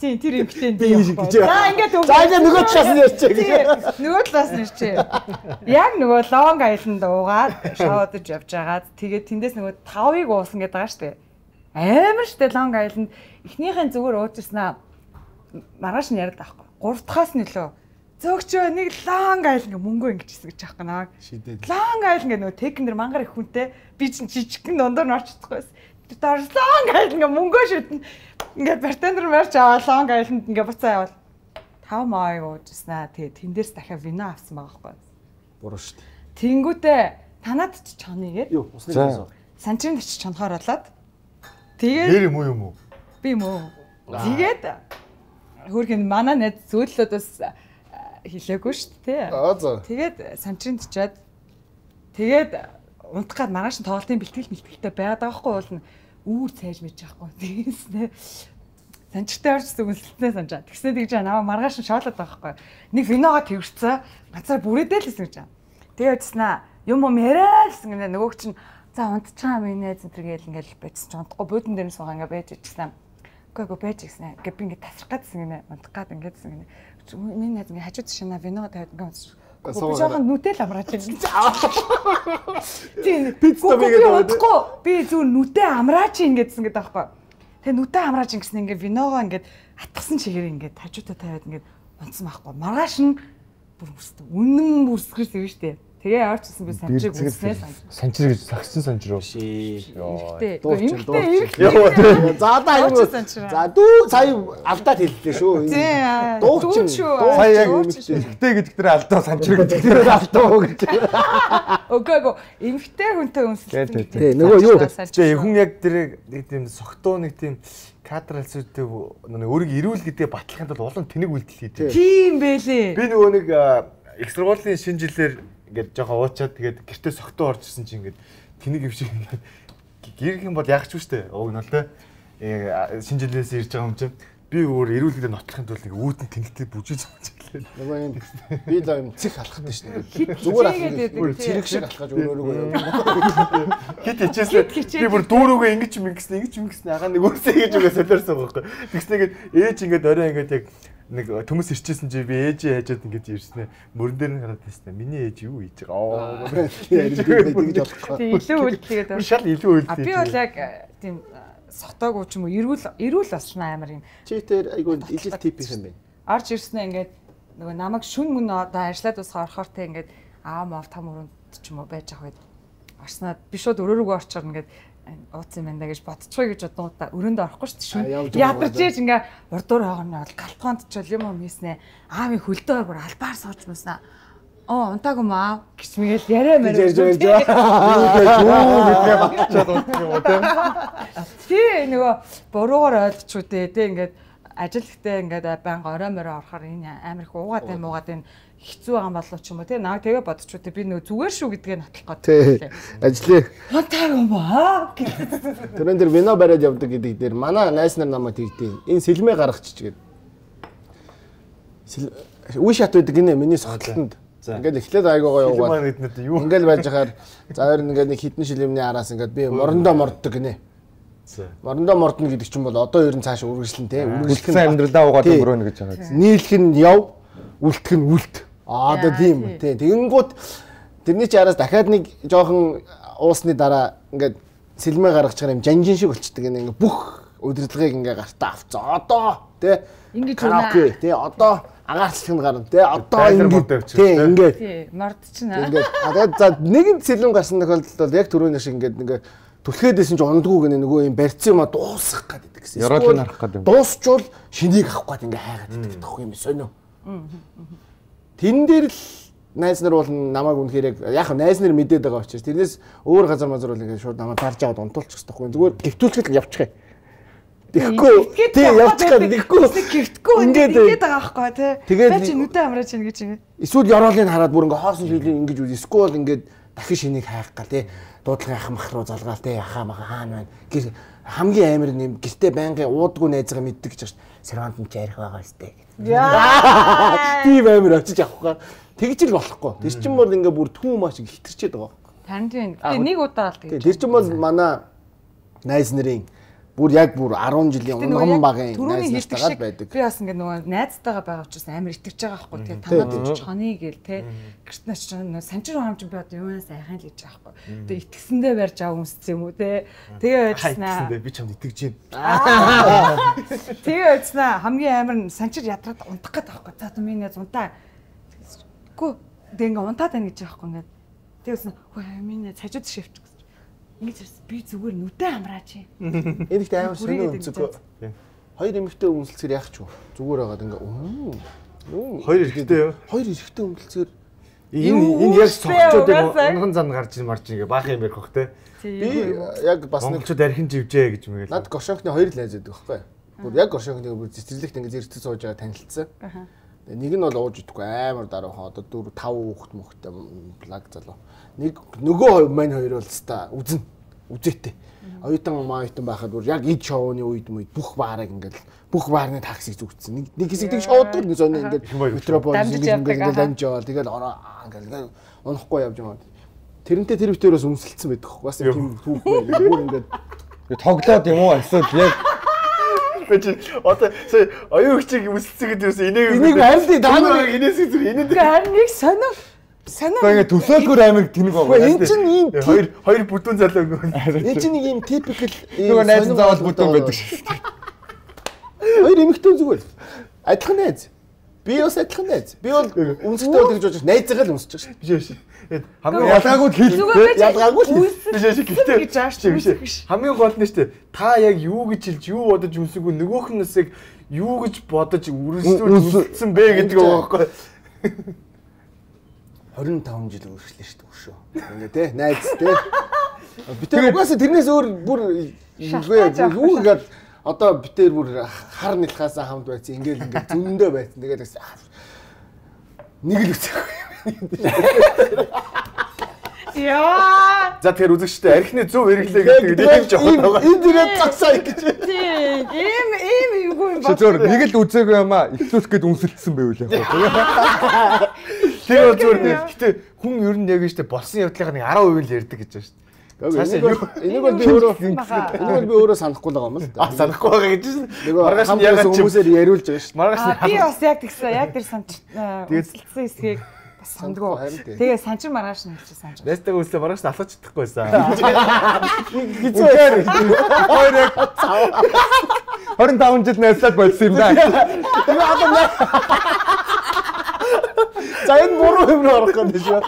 Тийм тэр эмхтэй би. За ингээд нөгөө талаас нь ярьчих гэж. Нөгөө талаас нь ярьчих. Яг нөгөө Long Island уугаад шоудж явж агаад тэгээд тэндээс нөгөө 5-ыг уусан гэдэг байгаа шүү дээ. Амар штэ Long Island эхнийхэн зүгээр уужснаа маргааш нь яриад байхгүй. 3 дахаас нь лөө зөөгчөө нэг Long Island мөнгөө ингэжсэн гэж аахгүй наа. Long Island гэх нөгөө технэр мангар их хүнтэй би чинь жижигхэн дундуур нь орчихдохгүй. Тэр Long Island мөнгөө шүтэн ингээд бартендер марч аваа Long Island ингээд буцаа явал 5 май уужснаа тэгээ тэндээс дахиад вино авсан байгаа байхгүй. Буруу штэ. Тэнгүүтээ танаад ч чоныг юу усны гэсэн. Санчрын очиж чонхоор болоод тэгээд нэр юм уу? Би юм уу? Тэгээд хөргөн манай найз зөөллөөдөөс хэлээгүй шүү дээ. За. Тэгээд санчрын чичээд тэгээд унтах гад маргааш нь тоглолтын бэлтгэлтэй байгаад байгаа хгүй уул нь үүр цайж мэж байхгүй. Тэгснэ санчтай орчсон үнэлтнээ санджаа. Тэгснэ тэгж наваа маргааш нь шоолоод байгаа хгүй. Нэг виногоо тэрвэрсэн. Ганцаар бүрээдэл гэсэн гэж. Тэгээд яцснаа юм яриа гэсэн гэнэ нөгөөг чинь за унтчихаа минь зэнтэр гээл ингээл байцсан ч унтахгүй буудан дээр суугаа ингээ байж ичсэн. Үгүй байж гиснэ. Ингээ би ингээ тасрах гэдсэн гэнэ унтах гад ингээ гэсэн гэнэ. Миний найз ингээ хажууд шинэ вино тавиад ингээ би жоохон нүтэл амраач юм. Тийм пицца мэгдээ. Би зүгээр нүтэ амраач ингэдсэн гэдэг аахгүй. Тэгээ нүтэ амраач ингэсэн ингээ виногоо ингээ атгсан чигээр ингээ хажуудаа тавиад ингээ унтсан байхгүй. Маргааш нь бүр үнэн бүрсгэрсэн юм штэ. Тэгээ яарчсан би санчиг үснээ санчир гэж сагсан санчир уу? Эмхтэй. За даа юм. За дүү сая алдаад хэллээ шүү. Дуучин шүү. Сая яг эмхтэй гэдэг дээр алдаа санчир гэдэг дээр алдаа уу гэж. Окего эмхтэй хүнтэй үнсэлсэн. Тий нөгөө юу Тэгээ хүн яг тэр нэг тийм согтуу нэг тийм кадр алсуудтай нэг өөрийг ирүүл гэдэг батлахын тулд олон тэнэг үйлдэл хийдэг. Тийм байлээ. Би нөгөө нэг их сургуулийн шинэ жилээр ингээд жоохон уучаад тэгээд гэртээ согтуу орж ирсэн чинь ингээд тэнэг юм шиг ингээд гэрх юм бол яах ч үстэй. Уг нь л те шинэ жилээс ирж байгаа юм чинь би өөр эрүүлгэрээ нотлохын тулд нэг үүдэн тэнэгтэй бүжиж байгаа. нөгөө юм би л юм цэг алхахдаг шнэ. Зүгээр алхах цэрэг шиг алхаж өөрөөгөө юм. Хит хичээслээ. Би бүр дүүрүүгээ ингэж ингэсэн агаа нэг өөрсөө ингэж үгээ солиорсон байхгүй. Тэгснэгээд ээж ингээд орой ингээд яг нэг төмөс ирчээсэн чи би ээжээ хайжаад ингэж ирснэ. Мөрөн дээр нь хараад байснаа. Миний ээж юу хийж байгаа. Тэгж болохгүй. Илүү үлдээгээд байна. Шал илүү үлдээ. Би бол яг тийм сотоогүй ч юм уу эрүүл болчихно амар юм. Чи тэр айгүй ижил тип юм байна. Орж ирснэ ингээд нөгөө намайг шүн мөн одоо ажиллаад усгаа орохоор те ингээд аа мав там өрөнд ч юм уу байж ах үед орсноо би шууд өрөөрөө орчоор ингээд ууц юм байна гэж бодчихгүй гэж бодонгуудаа өрөөнд орохгүй шүү дээ шүн ядарч ийж ингээ урдуур хоогны бол галтгоонд ч юм уу хийснэ аавын хөлдөө бүр албаар сууж мөснө унтаагүй маа гэж мэгэл яриа мэрэ ярьж байгаа. Юу гэдгээ батчаад унтах юм уу те. Тий нөгөө буруугаар ойлгочихгүй те ингээд ажил ихтэй ингээд байнга орой морой орохоор энэ амар их уугаад юм уугаад энэ хэцүү байгаа юм болов ч юм уу те наа тэгээ бодчихгүй те би нөгөө зүгээр шүү гэдгээ нотлох гэдэг. Ажлаа. Унтаагүй маа. Тэрэн дээр вино бариад явдаг гэдэг дээр манай найз нар намайг тэгдээ. Энэ сэлмээ гаргачих гээд. Үе шат байдаг гинэ миний согтолтонд. Ингээд эхлээд айгуугаа яваад. Ингээд байж хахаар за хоёр ингээд нэг хитэн шилэмний араас ингээд би морондоо морддог гинэ. Морондоо мордно гэдэг чинь бол одоо ер нь цааш үргэлжлэн те үргэлжлэн амьдралаа угаад өнгөрөөнө гэж байгаа. Нийлэх нь яв, үлдэх нь үлд. Одоо тийм те. Тэгэнгүүт тэрний чи араас дахиад нэг жоохон уусны дараа ингээд сэлмээ гаргачихаар юм жанжин шиг болчдөг ингээд бүх удирдлагыг ингээд гартаа авцаа. Одоо те ингэж үнэ те одоо агаарчлах нь гарна те одоо ингээд те ингээд мордчихна. Ингээд тэгээд за нэгэн сэлэм гарсан тохиолдолд бол яг түрүүний шиг ингээд түлхээдсэн чинь ундгүй гэнэ нөгөө юм барьц юм дуусгах гэдэг гэсэн. Яроод нарах гэдэг. Дуусчвал шинийг авах гээд ингээ хайгаад идэх тох юм сонио. Тэн дээр л найз нар бол намайг үнэхээр яг найз нар мэдээд байгаа учраас тэрнээс өөр газар мазар бол ингээ шууд намайг тарж аваад унтуулчих гэсэн. Зүгээр гівтүүлэхэд л явчих. Тэгэхгүй тий явчих гэхгүй гівтгэхгүй ингээд байгаа байхгүй тий. Тэгээд чи нүдэ амраач ийн гэж ингэ. Эсвэл ёроолыг хараад бүр ингээ хоосон шилийн ингэж үз. Эсвэл ингээд дахин шинийг хайх гал тий. Дуудлагын ах мах руу залгаал те ахаа мага хаана байна. Гэр хамгийн амар юм гэртээ байнгын уудгүй найзгаа мэддэг гэж байна. Сервант нь ярих байгаа сте. Яа. Тийм амар очиж авах. Тэгж л болохгүй. Тэр чинь бол ингээ бүр түүм маш хитэрчээд байгаа. Танд тийм. нэг удаа л тэгж. Тэр чинь бол манай найз нарын бүр яг бүр 10 жилийн өмнө багын найз нартайгаа байдаг. Би бас ингээ нөгөө найзтайгаа байгаа учраас амар итгэж байгаа байхгүй тий. Танаад чоны гээл тий. Гэрт нач санчир хаамж би одоо юунаас айхын л гэж байгаа байхгүй. Тэгээ итгэсэндээ барьж аваа өмссөн юм уу тий. Тэгээ байцснаа. Би чамд итгэж байна. Тэгээ байцснаа хамгийн амар санчир ядраад унтах гээд байгаа байхгүй. За одоо миний унтаа. Гү тэгээ ингээ унтаад байна гэж байгаа байхгүй ингээ. Тэгсэн хөө миний цажууд шивч ингэж би зүгээр нүдэ амраач. Энд ихтэй амар сонио өнцөг. Хоёр эмэгтэй өмсөлцөр яах ч вэ? Зүгээр байгаад ингээ хоёр эрэхтэй юу? Хоёр эрэхтэй өмсөлцөр энэ яг цогцоод унган зам гарч марж ингээ баах юм ярих бах те. Би яг бас нэг ч дархин живжээ гэж мэгэл. Над Горшонхны хоёр л найз байдаг байхгүй. Бүр яг Горшонхны бүр цэцэрлэгт ингээ зэрэгцээ сууж байгаа танилцсан. Нэг нь бол ууж идэхгүй амар даруухан одоо 4 5 хүүхэд мөхтэй благ залуу. Нэг нөгөө мань хоёр бол ста үзээтэй. Оюутан байхад бүр яг ид шоуны үед бүх баарыг ингээл бүх баарны таксиг зүгтсэн. Нэг хэсэгдээ шоудаг нэг сони ингээд метрополис ингээд дамжаал тэгэл ингээл унахгүй явж байгаа. Тэрнтэй тэр битээрээс өмсөлдсөн байдаг хөө. Бас тийм түүх байл. Бүр ингээд тоглоод юм уу эсвэл яг Бэж одоо оюун хчиг үсэлцгээд юусэн энийг харин та нар энэс энэнд харин нэг сонио ингээ төсөөлгөр амиг тэнэг байгаа. Энэ чинь ийм хоёр бүдүүн залуу өнгө. энэ чинь нэг ийм типикл нөгөө найз заавал бүдүүн байдаг шүү дээ. Хоёр эмэгтэй зүгээр. Адилхан найз. Би бас адилхан найз. Би бол өмсөлтөө бол тэгж бодож найзаагаа л өмсөж байгаа шүү. Биш. Хамгийн ялгаагүй хэл. Ялгаагүй л. Биш. Хамгийн гол нь шүү дээ. Та яг юу гэж хэлж юу бодож өмсөгүй нөгөөх нь бас яг юу гэж бодож үргэлжлүүлсэн бэ гэдэг байгаа байхгүй. 25 жил үргэлжлээ шүү дээ өшөө. Ингээ тий найз тий. Битээ угаасаа тэрнээс өөр бүр юу гэдэг одоо битээр бүр хар нэлхаасаа хамт байсан ингээл зөндөө байсан. Тэгээд нэг л үсэхгүй. Яа. За тэгэхээр үзэгчтэй архины зөв хэрэглээ гэдэг нэг жоохон байгаа. Энэ дээрээ цагсаа гэж. Тийм. Ийм юу юм ба. Зөвөр нэг л үзээгүй юм аа. Ихлүүлэх гээд үнсэлсэн байвал яг. Тэр зөвөр гэтээ хүн ер нь яг штэ болсон явдлынхаа нэг 10% л ярьдаг гэж байна штэ. Энийг бол би өөрөө санахгүй л байгаа юм л да. Санахгүй байгаа гэж байна. Маргааш нь ягаад хүмүүсээр яриулж байгаа штэ. Маргааш би бас яг тэгсэн. Яг тэр санч үзэлсэн хэсгийг сандгүй. Тэгээ санчин маргааш нь хэлчих санч. Нэстэг үсээ маргааш нь алхаж чадахгүйсэн. Хэцүү. 25 жил найзлаад болсон юм да. Тэгээ одоо за энэ буруу юм орох гэдэг шүү.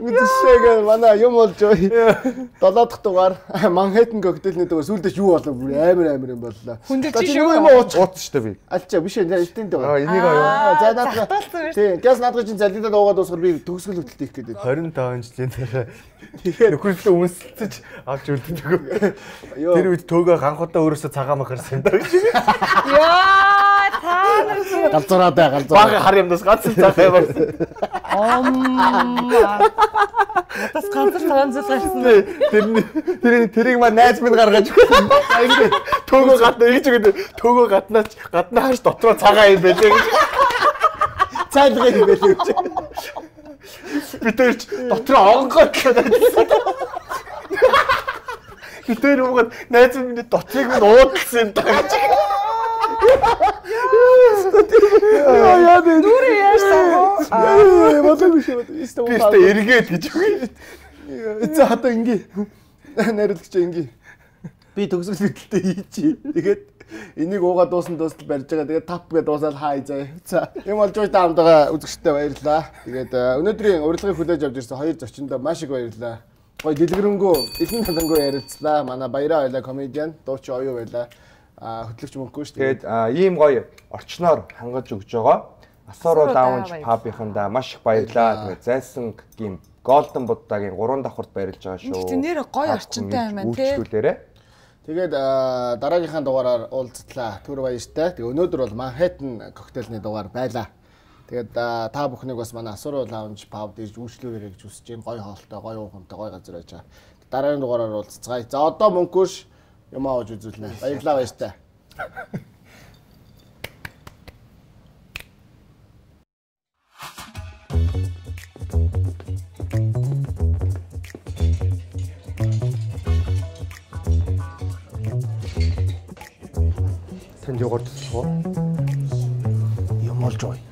Мэдээсээ манай юм болж байгаа. 7 дахь дугаар Манхэттен коктейлний дугаар сүүлдээ юу болов бүр амар юм боллоо. Хүндэт чи юу юм ууц шүү дээ би. Альчаа биш энэ тэнтэй байгаа. Энийг аа. За наадах. Тийм. Гэс наадах чинь залидаа дуугаад дуусгар би төгсгөл хөтөлт хийх гэдэг. 25 жилийн дараа нөхөрлөө үнсэлцэж авч үлддэг. Тэр үед төөгөө ганхуудаа өөрөөсөө цагаан махарсан юм да гэж. Яа, та галзуураа бага хар юмдас ганц цагаан махарсан. Надаас ганц гарсан. Тэрийг маа найз минь гаргаж өгсөн. Ингэ төөгөө гадна ингэж үгээд төөгөө гаднаа хаш дотроо цагаан юм байлээ гэж. цайлгыг юм байлээ гэж. Би тэрч дотроо онгоод Гэтэр угаад найз минь дотрыг минь уудсан юм даа гэж. Яа бэ? Нүрэ яасан. Болоогүй шүү. Би эргээд гэж үгүй. За одоо ингээ. Найруулагч ингээ. Би төгсгөл хөтөлтөд хийчихье. Тэгээд энийг уугаад дуусна дуустал барьж байгаа. Тэгээд тап гэдээ дуусаад хай заа. За юм болж та хамтгаа үзэгчтэй баярлалаа. Тэгээд өнөөдрийн урилгыг хүлээж авч ирсэн хоёр зочиндоо маш их баярлалаа. Гой дэлгэрэнгүй, элэн талангуй ярилцлаа. Манай Баяраа байлаа комедиан, дуучин оюу байлаа. Хөтлөгч мөнгөгүй шүү. Тэгээд ийм гоё орчноор хангаж өгж байгаа. Асууруу даунж пабынхандаа маш их баярлалаа. Тэгээд Зайсангийн Golden Buddha-гийн 3 давхурд баярлж байгаа шүү. Гэтэ нэр гоё орчинтай юм байна тий. Тэгээд дараагийнхаа дугаараар уулзтлаа. Түр баяртай. Тэгээ өнөөдөр бол Manhattan коктейлний дугаар байлаа. Тэгээд та бүхнийг бас манай Асууруу Lounge Pub дээрж үйлчлүүлээрэй гэж хүсэж байна. Гоё хоолтой, гоё уухамтай, гоё газар байж байгаа. Дараагийн дугаараар уулзцгаая. За одоо мөнгөш юм ааж үзүүлнэ. Баярлалаа баяртай. Танд яагаад тусах вэ? Юм болж байгаа.